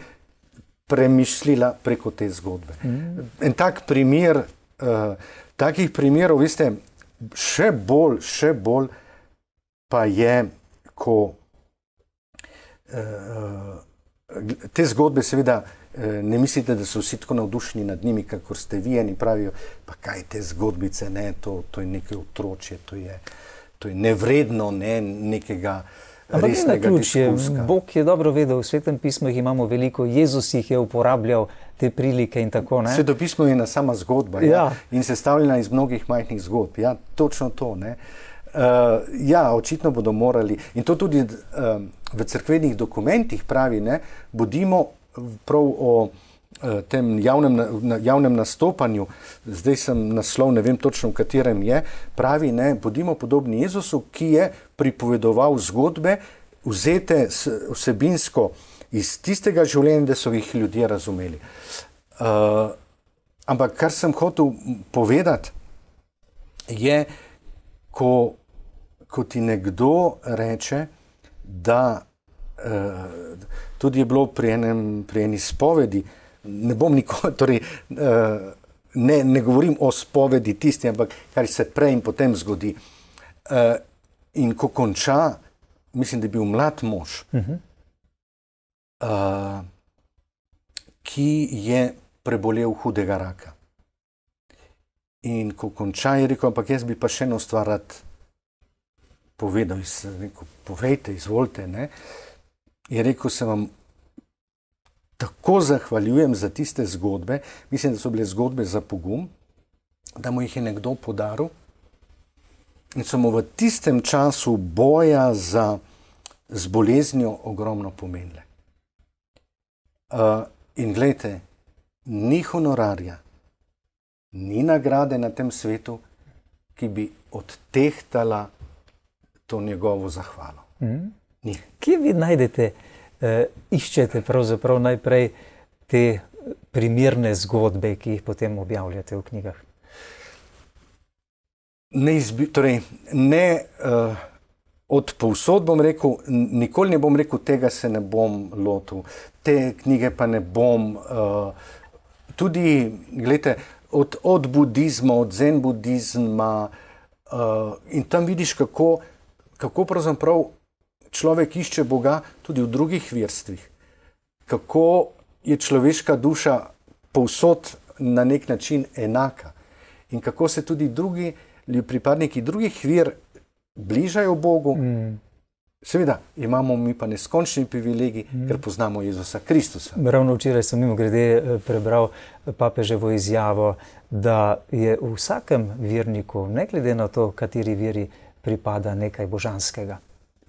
premišljila preko te zgodbe. Mm. En tak primer, uh, takih primerov, veste, še bolj, še bolj pa je, ko uh, te zgodbe seveda ne mislite, da so vsi tako navdušeni nad njimi, kakor ste vi, eni pravijo, pa kaj te zgodbice, ne, to, to je nekaj otročje, to je, to je nevredno, ne, nekega resnega diskursa. Bog je dobro vedel, v Svetem pismu jih imamo veliko, Jezus jih je uporabljal, te prilike in tako, ne? Sveto pismo je ena sama zgodba, ja. Ja, in sestavljena iz mnogih majhnih zgodb, ja, točno to, ne. Uh, ja, očitno bodo morali, in to tudi uh, v cerkvenih dokumentih pravi, ne, bodimo prav o uh, tem javnem, na, javnem nastopanju, zdaj sem naslov, ne vem točno, v katerem je, pravi, ne, bodimo podobni Jezusu, ki je pripovedoval zgodbe, vzete vsebinsko iz tistega življenja, da so jih ljudje razumeli. Uh, ampak kar sem hotel povedati, je, ko, ko ti nekdo reče, da uh, tudi je bilo pri, enem, pri eni spovedi, ne bom nikoli, torej, uh, ne, ne govorim o spovedi tisti, ampak kar se prej in potem zgodi. Uh, in ko konča, mislim, da je bil mlad mož, uh-huh. uh, ki je prebolel hudega raka. In ko konča, je rekel, ampak jaz bi pa še eno stvar rad povedal, rekel, povejte, izvolite, ne. Je rekel, se vam tako zahvaljujem za tiste zgodbe, mislim, da so bile zgodbe za pogum, da mu jih je nekdo podaril in so mu v tistem času boja za, z boleznjo ogromno pomenile. Uh, in glejte, ni honorarja, ni nagrade na tem svetu, ki bi odtehtala to njegovo zahvalo. Mm. Kje vi najdete, eh, iščete pravzaprav najprej te primerne zgodbe, ki jih potem objavljate v knjigah? Ne, izbi, torej, ne uh, od povsod bom rekel, nikoli ne bom rekel, tega se ne bom lotil, te knjige pa ne bom. Uh, tudi, gledajte, od, od budizma, od zen budizma uh, in tam vidiš, kako, kako pravzaprav človek išče Boga tudi v drugih verstvih. Kako je človeška duša povsod na nek način enaka. In kako se tudi drugi, pripadniki drugih ver bližajo Bogu. Mm. Seveda, imamo mi pa neskončni privilegij, mm. ker poznamo Jezusa Kristusa. Ravno včeraj sem mimogrede prebral papeževo izjavo, da je v vsakem verniku, ne glede na to, kateri veri pripada, nekaj božanskega.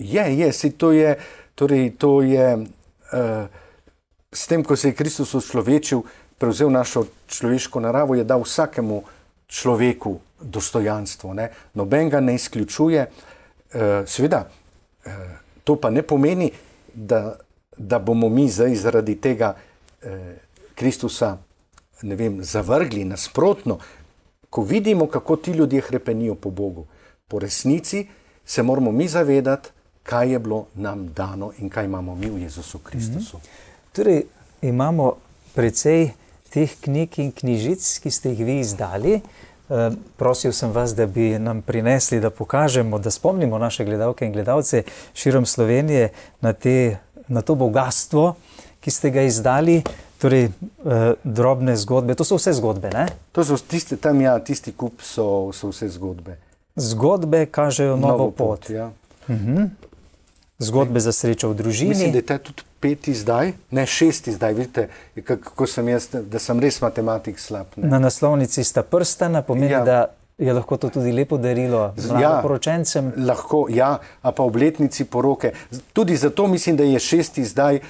Je, je, si to je, torej to je, uh, s tem, ko se je Kristus človečil, prevzel našo človeško naravo, je dal vsakemu človeku dostojanstvo, ne? Noben ga ne izključuje. Uh, seveda, uh, to pa ne pomeni, da, da bomo mi zdaj zaradi tega uh, Kristusa, ne vem, zavrgli, nasprotno. Ko vidimo, kako ti ljudje hrepenijo po Bogu, po resnici, se moramo mi zavedati, kaj je bilo nam dano in kaj imamo mi v Jezusu Kristusu. Mm-hmm. Torej, imamo precej teh knjig in knjižic, ki ste jih vi izdali. E, prosil sem vas, da bi nam prinesli, da pokažemo, da spomnimo naše gledalke in gledalce širom Slovenije na, te, na to bogatstvo, ki ste ga izdali. Torej, e, drobne zgodbe, to so vse zgodbe, ne? To so tiste, tam ja, tisti kup so, so vse zgodbe. Zgodbe kažejo novo, novo pot. pot ja. uh-huh. Zgodbe za srečo v družini. Mislim, da je tudi peti zdaj, ne šesti zdaj, vidite, kako sem jaz, da sem res matematik slab. Ne? Na naslovnici sta prstana, pomeni, ja. da Je lahko to tudi lepo darilo mladoporočencem? Ja, lahko, ja, a pa obletnici poroke. Tudi zato mislim, da je šesti zdaj,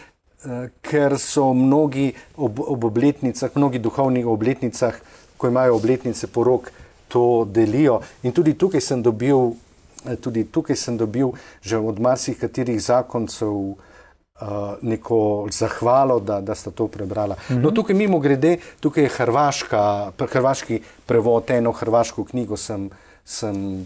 ker so mnogi ob, ob obletnicah, mnogi duhovnih obletnicah, ko imajo obletnice porok, to delijo. In tudi tukaj sem dobil, tudi tukaj sem dobil že od marsikaterih zakoncev neko zahvalo, da, da sta to prebrala. Mm-hmm. No, tukaj mimo grede, tukaj je hrvaška, hrvaški prevod, eno hrvaško knjigo sem, sem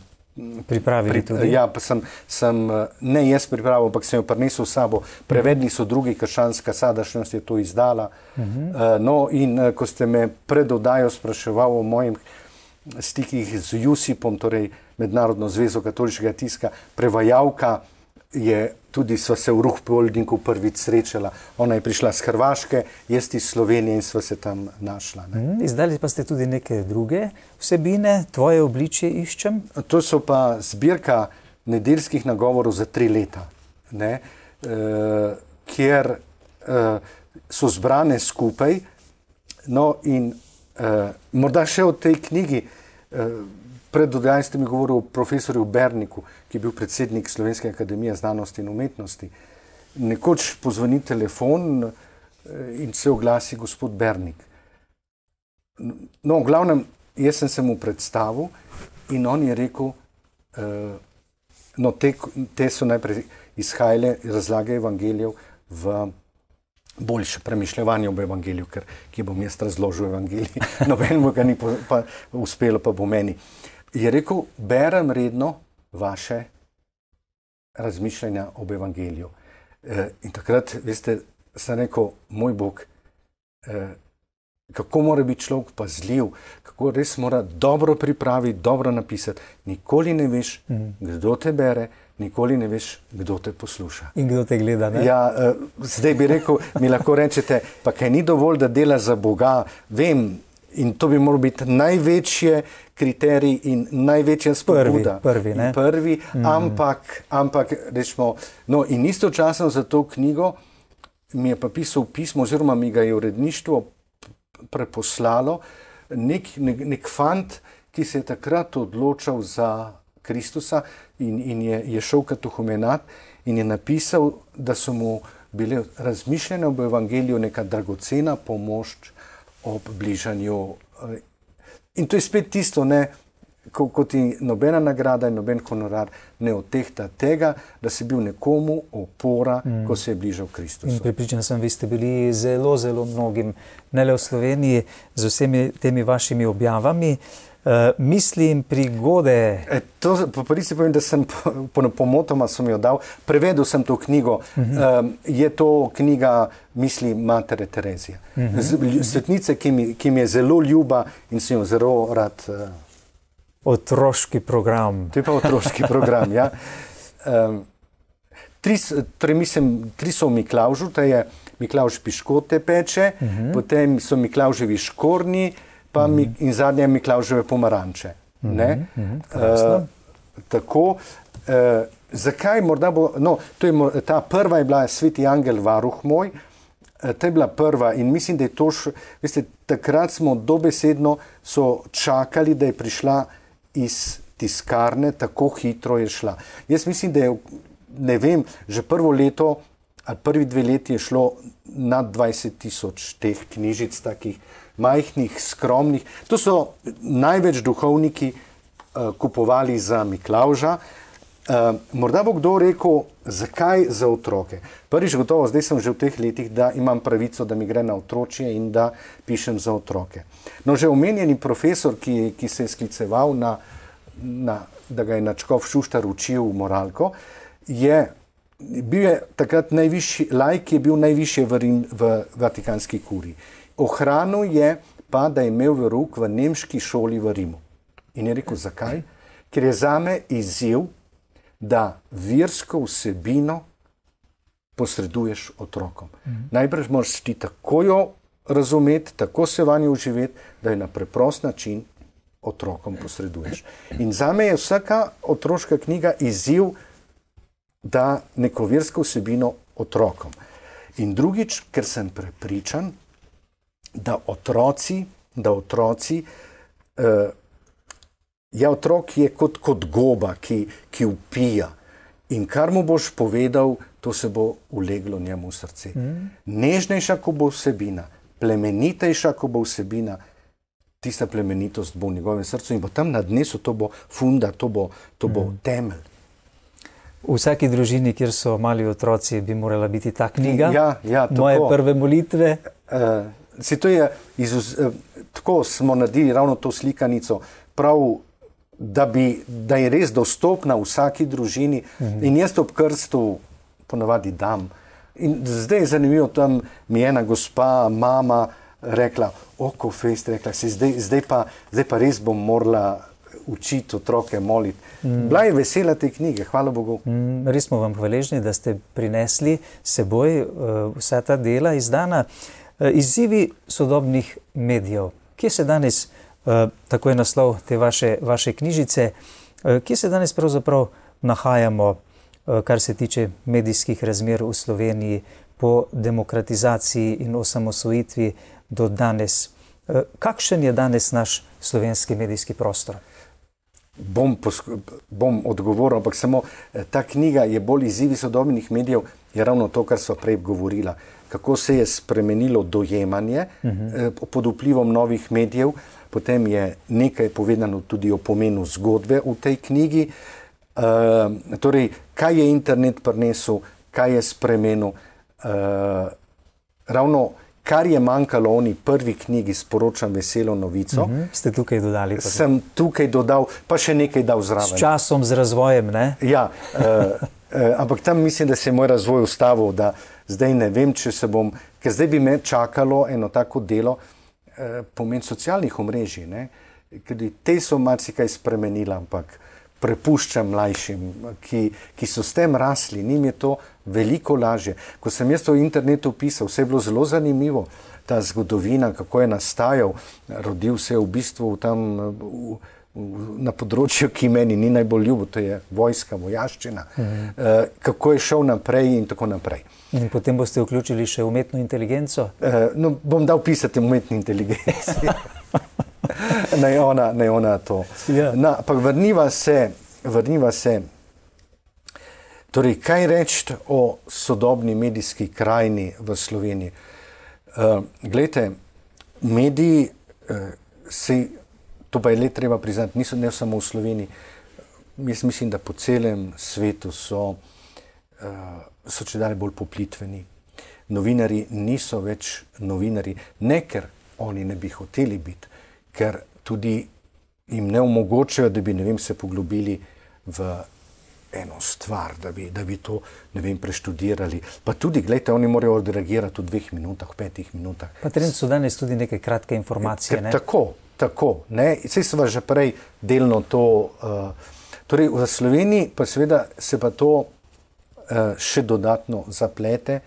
pripravili pri, tudi. Ja, pa sem, sem, ne jaz pripravil, ampak sem jo prinesel s sabo. Prevedli so drugi, krščanska sadašnjost je to izdala. Mm-hmm. uh, no, in uh, ko ste me pred oddajo spraševal o mojim stikih z Jusipom, torej Mednarodno zvezo katoliškega tiska, prevajalka je tudi, sva se v Ruhpoldingu prvič srečala. Ona je prišla z Hrvaške, jaz iz Slovenije in sva se tam našla. Mm, izdali pa ste tudi neke druge vsebine, Tvoje obličje iščem? To so pa zbirka nedeljskih nagovorov za tri leta, ne, e, kjer e, so zbrane skupaj. No in e, morda še o tej knjigi, e, pred oddajo ste mi govoril o profesorju Berniku, ki je bil predsednik Slovenske akademije znanosti in umetnosti. Nekoč pozvoni telefon in se oglasi gospod Bernik. No, v glavnem, jaz sem se mu predstavil in on je rekel, uh, no, te, te so najprej izhajale razlage evangelijev v boljše premišljevanje ob evangeliju, ker ki bom jaz razložil evangelij, nobenemu ga ni po, pa uspelo, pa bo meni. Je rekel, berem redno vaše razmišljanja ob evangeliju. E, in takrat, veste, sem rekel, moj Bog, e, kako mora biti človek pazljiv, kako res mora dobro pripraviti, dobro napisati. Nikoli ne veš, mm. kdo te bere, nikoli ne veš, kdo te posluša. In kdo te gleda, ne? Ja, e, zdaj bi rekel, mi lahko rečete, pa kaj ni dovolj, da dela za Boga, vem, in to bi moral biti največje kriterij in največja spodbuda. Prvi, prvi, ne? Prvi, mm. ampak, ampak, rečemo, no in istočasno za to knjigo mi je pa pisal pismo, oziroma mi ga je uredništvo preposlalo, nek, nek, nek fant, ki se je takrat odločal za Kristusa in, in je, je šel katehumenat in je napisal, da so mu bile razmišljene ob evangeliju neka dragocena pomoč ob bližanju. In to je spet tisto, ne, ko, ko ti nobena nagrada in noben honorar ne odtehta tega, da si bil nekomu opora, mm. ko se je bližal Kristusu. In pripričan sem, vi ste bili zelo, zelo mnogim, ne le v Sloveniji, z vsemi temi vašimi objavami. Uh, mislim, prigode... E, to, po prvi se povem, da sem po, po, pomotoma sem jo dal, prevedel sem to knjigo. Uh-huh. um, je to knjiga misli Matere Terezije. Uh-huh. Z, svetnice, ki mi, ki mi je zelo ljuba in sem jo zelo rad... Uh... Otroški program. To je pa otroški program, ja. Um, tri, torej mislim, tri so v Miklavžu, to je Miklavž Piškote peče, uh-huh. potem so Miklavževi škornji, pa mi, in zadnje Miklavževe pomaranče. Ne? Mm-hmm, uh, tako, uh, zakaj morda bo, no, to je, ta prva je bila Sveti Angel varuh moj, uh, to je bila prva in mislim, da je to, š, veste, takrat smo dobesedno so čakali, da je prišla iz tiskarne, tako hitro je šla. Jaz mislim, da je, ne vem, že prvo leto, ali prvi dve leti je šlo nad dvajset tisoč teh knjižic, takih majhnih, skromnih. To so največ duhovniki uh, kupovali za Miklavža. Uh, morda bo kdo rekel, zakaj za otroke. Prvič gotovo, zdaj sem že v teh letih, da imam pravico, da mi gre na otročje in da pišem za otroke. No, že omenjeni profesor, ki, ki se je skliceval na, na, da ga je Načkov Šuštar učil moralko, je bil je takrat najvišji, laik je bil najvišje v, Rim, v Vatikanski kuriji. Ohranil je pa, da je imel verouk v nemški šoli v Rimu. In je rekel, zakaj? Ker je zame izziv, da versko vsebino posreduješ otrokom. Mm. Najprej moraš ti tako jo razumeti, tako se vanjo uživeti, da jo na preprost način otrokom posreduješ. In zame je vsaka otroška knjiga izziv, da neko versko vsebino otrokom. In drugič, ker sem prepričan, da otroci, da otroci, eh, ja, otrok je kot, kot goba, ki, ki upija. In kar mu boš povedal, to se bo uleglo njemu v srce. Mm. Nežnejša, ko bo vsebina, plemenitejša, ko bo vsebina, tista plemenitost bo v njegovem srcu in bo tam na dnesu, to bo funda, to bo, to bo mm. temelj. V vsaki družini, kjer so mali otroci, bi morala biti ta knjiga. Ja, ja, Moje prve molitve. Uh, se to je, izuz, uh, tako smo naredili ravno to slikanico, prav, da, bi, da je res dostopna vsaki družini. Mm-hmm. In jaz ob krstu ponavadi dam. In zdaj je zanimivo, tam mi je ena gospa, mama rekla, oko fest, rekla si, zdaj, zdaj, pa, zdaj pa res bom morala učiti otroke moliti. Mm. Bila je vesela te knjige, hvala Bogu. Mm, res smo vam hvaležni, da ste prinesli seboj uh, vsa ta dela izdana. Uh, izzivi sodobnih medijev. Kje se danes, uh, tako je naslov te vaše, vaše knjižice, uh, kje se danes pravzaprav nahajamo, uh, kar se tiče medijskih razmer v Sloveniji po demokratizaciji in osamosvojitvi do danes? Uh, kakšen je danes naš slovenski medijski prostor? Bom, bom odgovoril, ampak samo ta knjiga je bolj izzivi sodobnih medijev, je ravno to, kar sva prej govorila. Kako se je spremenilo dojemanje uh-huh. pod vplivom novih medijev, potem je nekaj povedano tudi o pomenu zgodbe v tej knjigi. Uh, torej, kaj je internet prinesel, kaj je spremenil. Uh, ravno kar je manjkalo oni prvi knjigi, Sporočam veselo novico. Uh-huh. Ste tukaj dodali? Tako. Sem tukaj dodal, pa še nekaj dal zraven. S časom, z razvojem, ne? Ja, uh, uh, ampak tam mislim, da se je moj razvoj ustavil, da zdaj ne vem, če se bom, ker zdaj bi me čakalo eno tako delo, uh, pomen socialnih omrežij, ne? Ker te so marsikaj spremenila, ampak prepuščam mlajšim, ki, ki so s tem rasli, njim je to veliko lažje. Ko sem jaz to v internetu pisal, vse je bilo zelo zanimivo, ta zgodovina, kako je nastajal, rodil se je v bistvu tam v, v, na področju, ki meni ni najbolj ljubo, to je vojska, vojaščina, mhm. uh, kako je šel naprej in tako naprej. In potem boste vključili še umetno inteligenco? Uh, no, bom dal pisati umetni inteligenci. Naj ona, naj ona to. Ja. Na, pa vrniva se, vrniva se, torej, kaj reči o sodobni medijski krajini v Sloveniji? Uh, glejte, mediji, uh, se, to pa je le treba priznati, niso ne samo v Sloveniji, jaz mislim, da po celem svetu so, uh, so če dalje bolj poplitveni. Novinari niso več novinari, ne ker oni ne bi hoteli biti, ker tudi jim ne omogočajo, da bi, ne vem, se poglobili v eno stvar, da bi, da bi to, ne vem, preštudirali. Pa tudi, gledajte, oni morajo odreagirati v dveh minutah, v petih minutah. Pa trend so danes tudi neke kratke informacije, ne? Tako, tako, ne? Saj sva že prej delno to, uh, torej v Sloveniji pa seveda se pa to uh, še dodatno zaplete.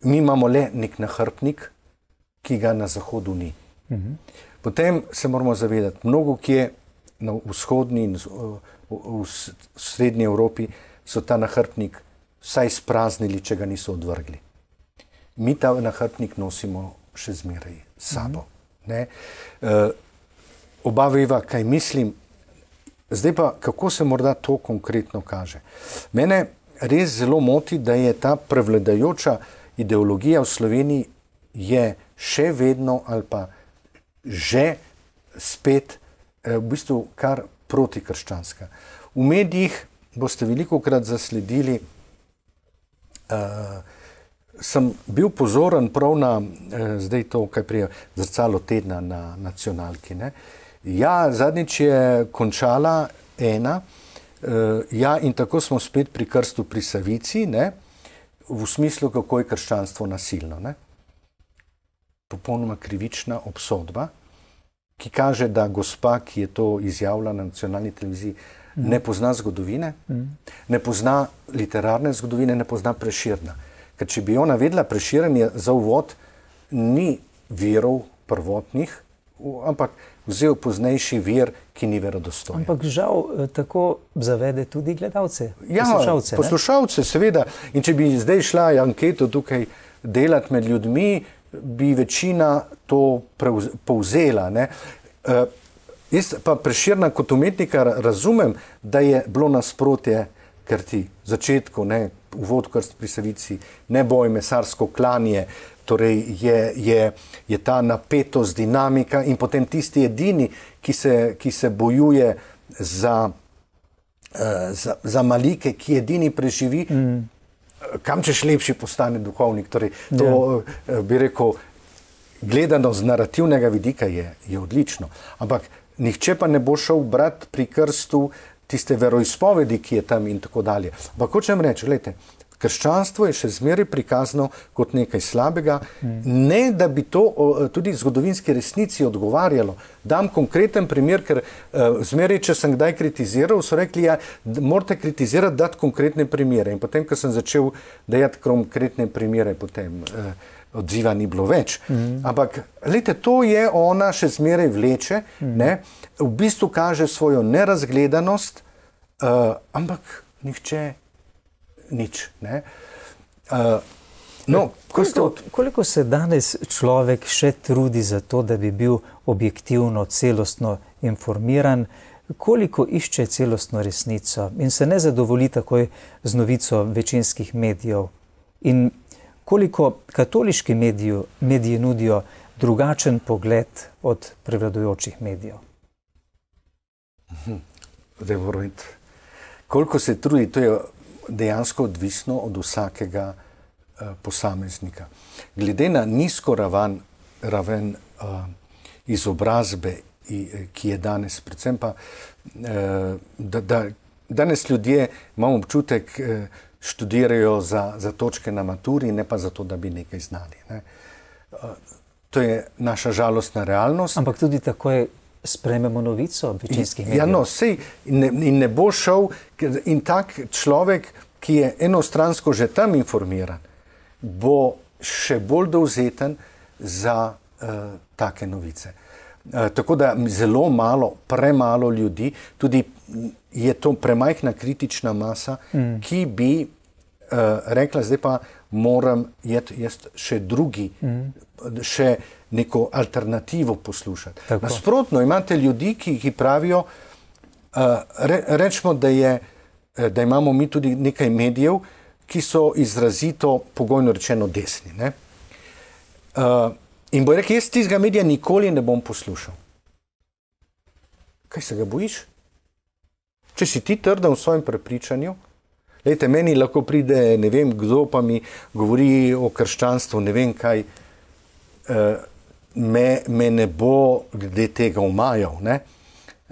Mi imamo le nek nahrbnik, ki ga na Zahodu ni. Uh-huh. Potem se moramo zavedati, mnogo kje na vzhodni in v, v, v srednji Evropi so ta nahrbnik vsaj spraznili, če ga niso odvrgli. Mi ta nahrbnik nosimo še zmeraj s sabo. Mm-hmm. Ne? Uh, oba veva, kaj mislim. Zdaj pa, kako se morda to konkretno kaže. Mene res zelo moti, da je ta prevladajoča ideologija v Sloveniji je še vedno ali pa že spet eh, v bistvu kar protikrščanska. V medijih boste velikokrat zasledili, uh, sem bil pozoren prav na eh, zdaj to, kaj prije Zrcalo tedna na nacionalki. Ne? Ja, zadnjič je končala ena, uh, ja, in tako smo spet pri krstu pri Savici, ne? V smislu, kako je krščanstvo nasilno. Ne? Popolnoma krivična obsodba, ki kaže, da gospa, ki je to izjavila na nacionalni televiziji, mm. ne pozna zgodovine, mm. ne pozna literarne zgodovine, ne pozna Prešerna. Ker če bi ona vedela, Prešeren je za uvod ni virov prvotnih, ampak vzel poznejši vir, ki ni verodostojen. Ampak žal tako zavede tudi gledalce, ja, poslušalce. Poslušalce, seveda. In če bi zdaj šla anketo tukaj delati med ljudmi, bi večina to povzela. Ne? Uh, Jaz pa Prešerna kot umetnika razumem, da je bilo nasprotje, ker ti v začetku, ne, uvod krst pri Savici, neboj, mesarsko klanje, torej je, je, je ta napetost, dinamika in potem tisti edini, ki se, ki se bojuje za, uh, za, za malike, ki edini preživi, mm. kam češ lepši postane duhovnik. Torej, to yeah. bi rekel, gledano z narativnega vidika je, je odlično. Ampak nihče pa ne bo šel brati pri krstu tiste veroizpovedi, ki je tam in tako dalje. Ampak hočem reči, gledajte, krščanstvo je še zmeraj prikazano kot nekaj slabega, mm. ne da bi to tudi zgodovinski resnici odgovarjalo. Dam konkreten primer, ker uh, zmeraj, če sem kdaj kritiziral, so rekli, ja, morate kritizirati, dati konkretne primere. In potem, ko sem začel dajati konkretne primere, potem uh, odziva ni bilo več. Mm. Ampak, gledajte, to je ona še zmeraj vleče, mm. ne, v bistvu kaže svojo nerazgledanost, uh, ampak nihče nič. Ne? Uh, no, koliko, od... koliko se danes človek še trudi za to, da bi bil objektivno, celostno informiran, koliko išče celostno resnico in se ne zadovolji takoj z novico večinskih medijev in koliko katoliški mediji, mediji nudijo drugačen pogled od prevladujočih medijev? Zdaj moram iti. Koliko se trudi, to je dejansko odvisno od vsakega uh, posameznika. Glede na nizko raven, raven uh, izobrazbe, i, ki je danes, predvsem pa, uh, da, da danes ljudje, imamo občutek, uh, študirajo za, za točke na maturi, ne pa zato, da bi nekaj znali. Ne? Uh, to je naša žalostna realnost. Ampak tudi tako je sprejmemo novico večinskih medijev. Ja, no, sej, in, ne, in ne bo šel, in tak človek, ki je enostransko že tam informiran, bo še bolj dovzeten za uh, take novice. Uh, tako da zelo malo, premalo ljudi, tudi je to premajhna kritična masa, mm. ki bi uh, rekla, zdaj pa moram jesti še drugi, mm. še neko alternativo poslušati. Tako. Nasprotno, imate ljudi, ki, ki pravijo, uh, re, rečemo, da, je, da imamo mi tudi nekaj medijev, ki so izrazito, pogojno rečeno, desni. Ne? Uh, in bo rekel, jaz tistega medija nikoli ne bom poslušal. Kaj se ga bojiš? Če si ti trden v svojem prepričanju, lejte, meni lahko pride, ne vem, kdo pa mi govori o krščanstvu, ne vem kaj, uh, Me, me ne bo glede tega omajal, ne?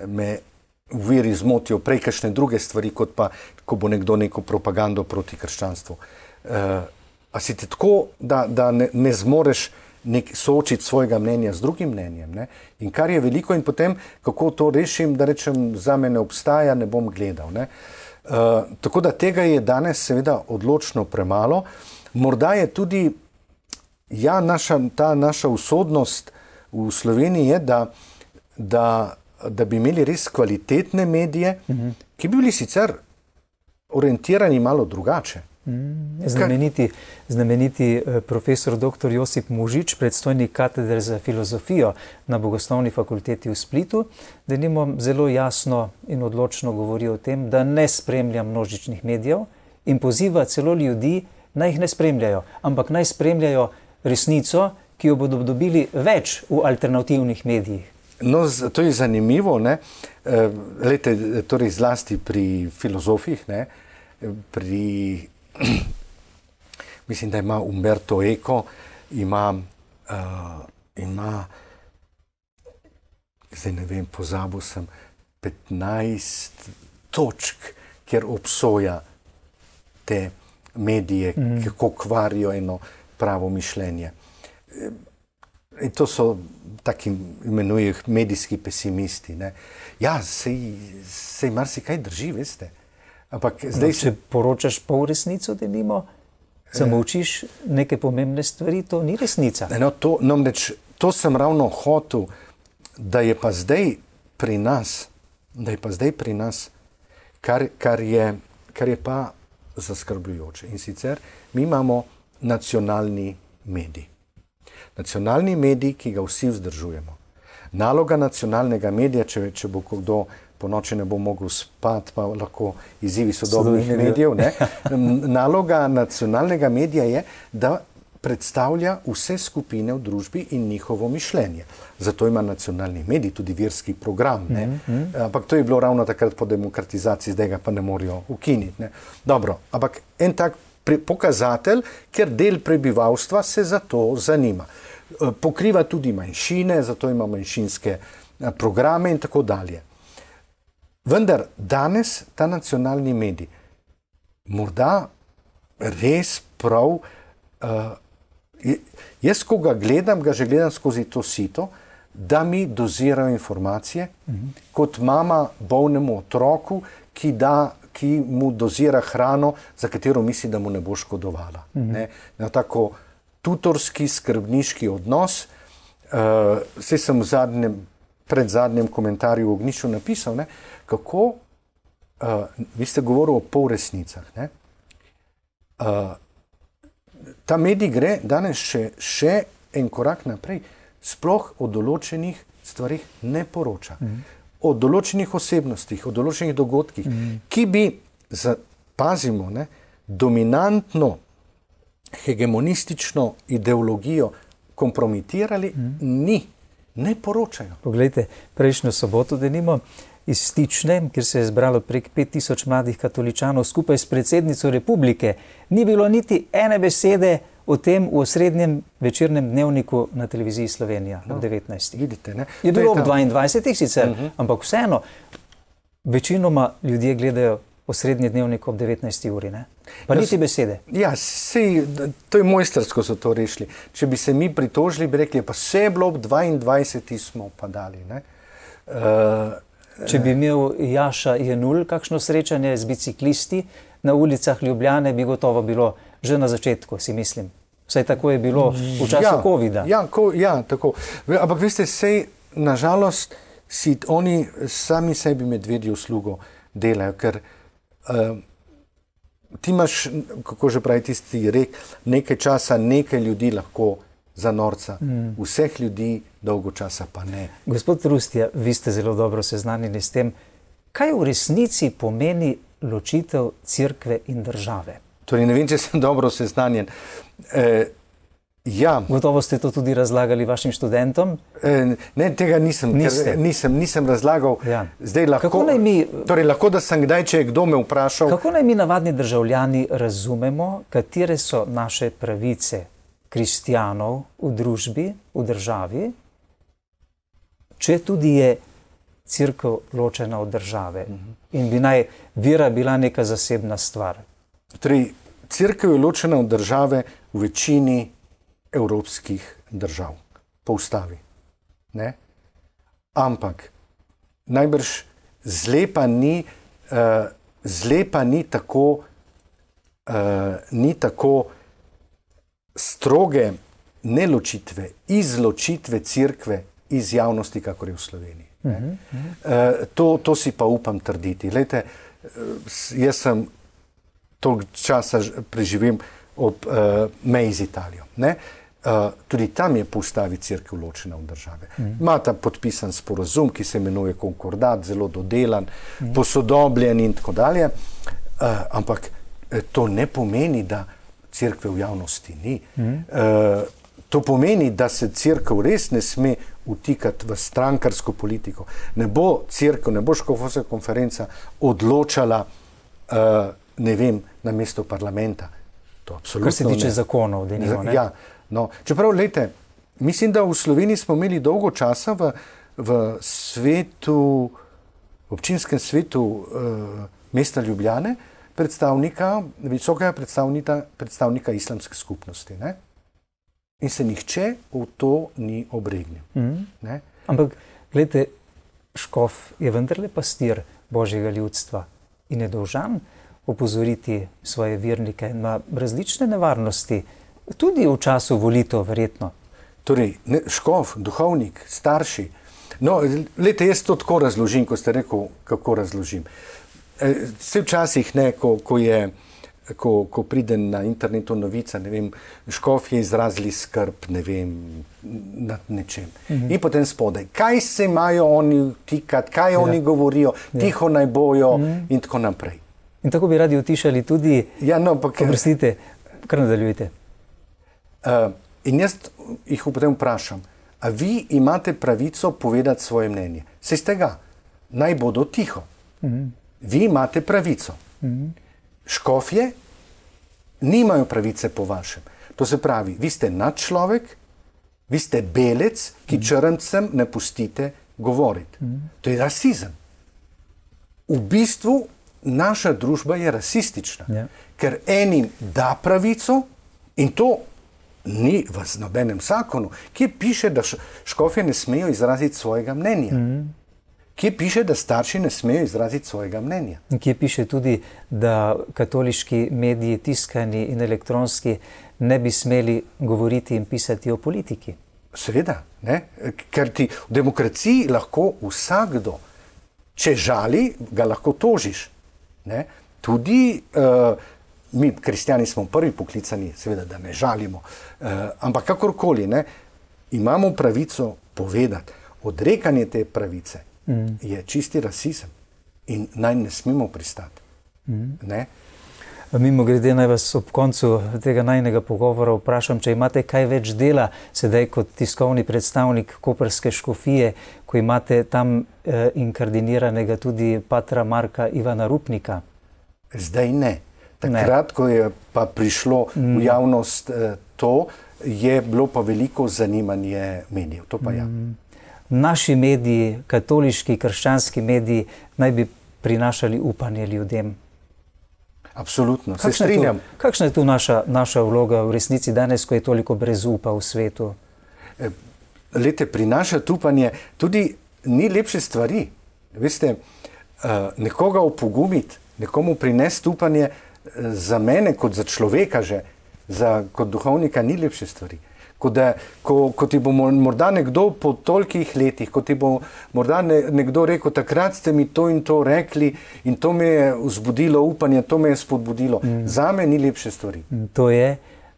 Me v veri zmotijo prej kakšne druge stvari, kot pa, ko bo nekdo neko propagando proti krščanstvu. Uh, a si ti tako, da, da ne, ne zmoreš nek, soočiti svojega mnenja z drugim mnenjem, ne? In kar je veliko, in potem, kako to rešim, da rečem, za me ne obstaja, ne bom gledal, ne? Uh, tako da tega je danes seveda odločno premalo. Morda je tudi Ja, naša, ta naša usodnost v Sloveniji je, da, da, da bi imeli res kvalitetne medije, mm-hmm. ki bi bili sicer orientirani malo drugače. Mm, znameniti, znameniti profesor doktor Josip Mužič, predstojnik katedre za filozofijo na Bogoslovni fakulteti v Splitu, denimo zelo jasno in odločno govori o tem, da ne spremlja množičnih medijev in poziva celo ljudi, naj jih ne spremljajo, ampak naj spremljajo resnico, ki jo bodo dobili več v alternativnih medijih. No, to je zanimivo, ne? Lejte, torej zlasti pri filozofih, ne? Pri, mislim, da ima Umberto Eco, ima, uh, ima, zdaj ne vem, pozabil sem, petnajst točk, kjer obsoja te medije, mm. kako kvarijo eno pravo mišljenje. In to so taki, imenujejo medijski pesimisti. Ne? Ja, sej, sej marsikaj drži, veste. Ampak zdaj... No, če poročaš pol resnico, da nimo, samo učiš neke pomembne stvari, to ni resnica. No, to, no, neč, to sem ravno hotel, da je pa zdaj pri nas, da je pa zdaj pri nas, kar, kar, je, kar je pa zaskrbljujoče. In sicer mi imamo nacionalni medij. Nacionalni medij, ki ga vsi vzdržujemo. Naloga nacionalnega medija, če, če bo kdo po noči ne bo mogel spati, pa lahko izzivi sodobnih medijev, ne? Naloga nacionalnega medija je, da predstavlja vse skupine v družbi in njihovo mišljenje. Zato ima nacionalni medij tudi verski program. Ne? Mm -hmm. Ampak to je bilo ravno takrat po demokratizaciji, zdaj ga pa ne morajo ukiniti. Ne? Dobro, ampak en tak pokazatelj, ker del prebivalstva se za to zanima. Pokriva tudi manjšine, zato ima manjšinske programe in tako dalje. Vendar danes ta nacionalni medij morda res prav, uh, jaz, ko ga gledam, ga že gledam skozi to sito, da mi dozirajo informacije, mm-hmm. kot mama bolnemu otroku, ki, da, ki mu dozira hrano, za katero misli, da mu ne bo škodovala. Mm-hmm. Ne? Na tako tutorski, skrbniški odnos. Uh, saj sem v zadnjem, pred zadnjem komentarju v Ognjišču napisal, ne, kako, uh, vi ste govorili o polresnicah, ne? Uh, ta medij gre danes še, še en korak naprej, sploh o določenih stvarih ne poroča. Mm. O določenih osebnostih, o določenih dogodkih, mm. ki bi, za, pazimo, ne, dominantno hegemonistično ideologijo kompromitirali, mm. ni, ne poročajo. Poglejte, prejšnjo soboto denimo iz Stične, kjer se je zbralo prek pet tisoč mladih katoličanov skupaj s predsednico republike, ni bilo niti ene besede o tem v osrednjem večernem dnevniku na televiziji Slovenija no, ob devetnajstih. Vidite, ne? Je bilo ob dvaindvajsetih sicer, uh -huh. ampak vseeno, večinoma ljudje gledajo osrednji dnevnik ob devetnajsti uri, ne? Pa niti besede. Ja, sej, to je mojstrsko so to rešili. Če bi se mi pritožili, bi rekli, pa vse je bilo ob dvaindvajsetih smo pa dali, ne? Uh, Če bi imel Jaša Jenull kakšno srečanje z biciklisti na ulicah Ljubljane, bi gotovo bilo že na začetku, si mislim. Vsaj tako je bilo v času ja, covida. Ja, ko, ja, tako. Ampak veste, sej, nažalost, si oni sami sebi medvedjo uslugo delajo, ker uh, ti imaš, kako že pravi tisti rek, nekaj časa, nekaj ljudi lahko za norca. Mm. Vseh ljudi dolgo časa pa ne. Gospod Rustja, vi ste zelo dobro seznanjeni s tem, kaj v resnici pomeni ločitev cerkve in države? Torej, ne vem, če sem dobro seznanjen. E, ja. Gotovo ste to tudi razlagali vašim študentom? E, ne, tega nisem, ker, nisem, nisem razlagal. Ja. Zdaj lahko, kako naj mi, torej, lahko, da sem kdaj, če je kdo me vprašal. Kako naj mi navadni državljani razumemo, katere so naše pravice kristjanov v družbi, v državi, če tudi je cerkev ločena od države in bi naj vera bila neka zasebna stvar? Torej, cerkev je ločena od države v večini evropskih držav, po ustavi. Ne? Ampak najbrž zlepa ni, uh, zlepa ni tako, uh, ni tako stroge neločitve, izločitve cerkve iz javnosti, kakor je v Sloveniji. Uh -huh, uh -huh. uh, to, to si pa upam trditi. Glejte, jaz sem toliko časa preživim ob uh, meji z Italijo. Ne? Uh, tudi tam je po ustavi cerkev ločena od države. Uh-huh. Ima ta podpisan sporazum, ki se imenuje konkordat, zelo dodelan, uh-huh. posodobljen in tako dalje. Uh, ampak to ne pomeni, da cerkve v javnosti ni. Uh-huh. Uh, to pomeni, da se cerkev res ne sme vtikati v strankarsko politiko. Ne bo cerkev, ne bo škofovska konferenca odločala uh, ne vem, na mesto parlamenta. To absolutno kar se tiče ne. zakonov, denimo, ne? Ja, no. Čeprav, lejte, mislim, da v Sloveniji smo imeli dolgo časa v, v svetu, občinskem svetu uh, mesta Ljubljane, predstavnika, visokega predstavnika, predstavnika islamske skupnosti, ne? In se nihče v to ni obregnil. Mm. Ne? Ampak, gledajte, škof je vendarle pastir Božjega ljudstva in je dolžan opozoriti svoje vernike na različne nevarnosti, tudi v času volitev, verjetno. Torej, ne, škof, duhovnik, starši. No, lejte, jaz to tako razložim, ko ste rekel, kako razložim. E, vse včasih, ne, ko, ko je ko, ko pride na internetu novica, ne vem, škofje izrazili skrb, ne vem, nad nečem. Mm-hmm. In potem spodaj, kaj se imajo oni vtikati, kaj ja. oni govorijo, ja. tiho naj bojo mm-hmm. in tako naprej. In tako bi radi utišali tudi, ja, no, pa, oprostite, kar nadaljujte. Uh, in jaz jih potem vprašam, a vi imate pravico povedati svoje mnenje? Se iz tega, naj bodo tiho. Mm-hmm. Vi imate pravico. Mm-hmm. Škofje nimajo pravice po vašem. To se pravi, vi ste nadčlovek, vi ste belec, ki mm-hmm. črncem ne pustite govoriti. Mm-hmm. To je rasizem. V bistvu naša družba je rasistična, yeah. ker enim da pravico in to ni v nobenem zakonu, kje piše, da škofje ne smejo izraziti svojega mnenja. Mm-hmm. Kje piše, da starši ne smejo izraziti svojega mnenja. Kje piše tudi, da katoliški mediji, tiskani in elektronski, ne bi smeli govoriti in pisati o politiki. Seveda, ne? Ker ti v demokraciji lahko vsakdo, če žali, ga lahko tožiš. Ne? Tudi uh, mi, kristjani, smo prvi poklicani, seveda, da ne žalimo, uh, ampak kakorkoli, ne, imamo pravico povedati. Odrekanje te pravice mm. je čisti rasizem in naj ne smemo pristati. Mm. Ne? Mimo grede naj vas ob koncu tega najnega pogovora vprašam, če imate kaj več dela sedaj kot tiskovni predstavnik koprske škofije, ko imate tam eh, inkardiniranega tudi patra Marka Ivana Rupnika? Zdaj ne. Takrat, ne. ko je pa prišlo mm. v javnost eh, to, je bilo pa veliko zanimanje medijev. To pa mm. ja. Naši mediji, katoliški, krščanski mediji, naj bi prinašali upanje ljudem. Absolutno, se strinjam. Kakšna je tu naša, naša vloga v resnici danes, ko je toliko brezupa v svetu? Lete, prinašati upanje tudi ni lepše stvari. Veste, nekoga opogumiti, nekomu prinesti upanje, za mene kot za človeka že, za, kot duhovnika ni lepše stvari. Ko, da, ko, ko ti bo morda nekdo po tolikih letih, ko ti bo morda ne, nekdo rekel, takrat ste mi to in to rekli in to me je vzbudilo upanje, to me je spodbudilo. Mm. Zame ni lepše stvari. To je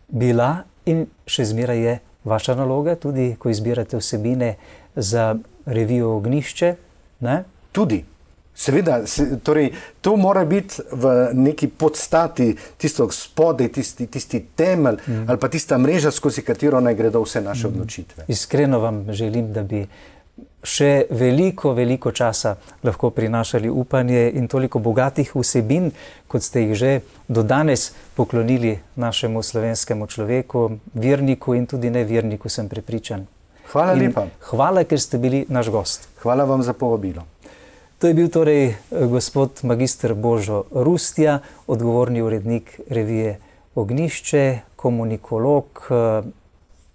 bila in še zmeraj je vaša naloga, tudi ko izbirate vsebine za revijo Ognjišče, ne? Tudi. Seveda, se, torej, to mora biti v neki podstati, tisto spodaj, tisti, tisti temelj mm. ali pa tista mreža, skozi katero naj gredo vse naše mm. odločitve. Iskreno vam želim, da bi še veliko, veliko časa lahko prinašali upanje in toliko bogatih vsebin, kot ste jih že do danes poklonili našemu slovenskemu človeku, verniku in tudi neverniku, sem prepričan. Hvala in lepa. Hvala, ker ste bili naš gost. Hvala vam za povabilo. To je bil torej gospod magister Božo Rustja, odgovorni urednik revije Ognjišče, komunikolog,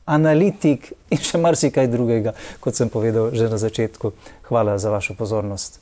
analitik in še marsikaj drugega, kot sem povedal že na začetku. Hvala za vašo pozornost.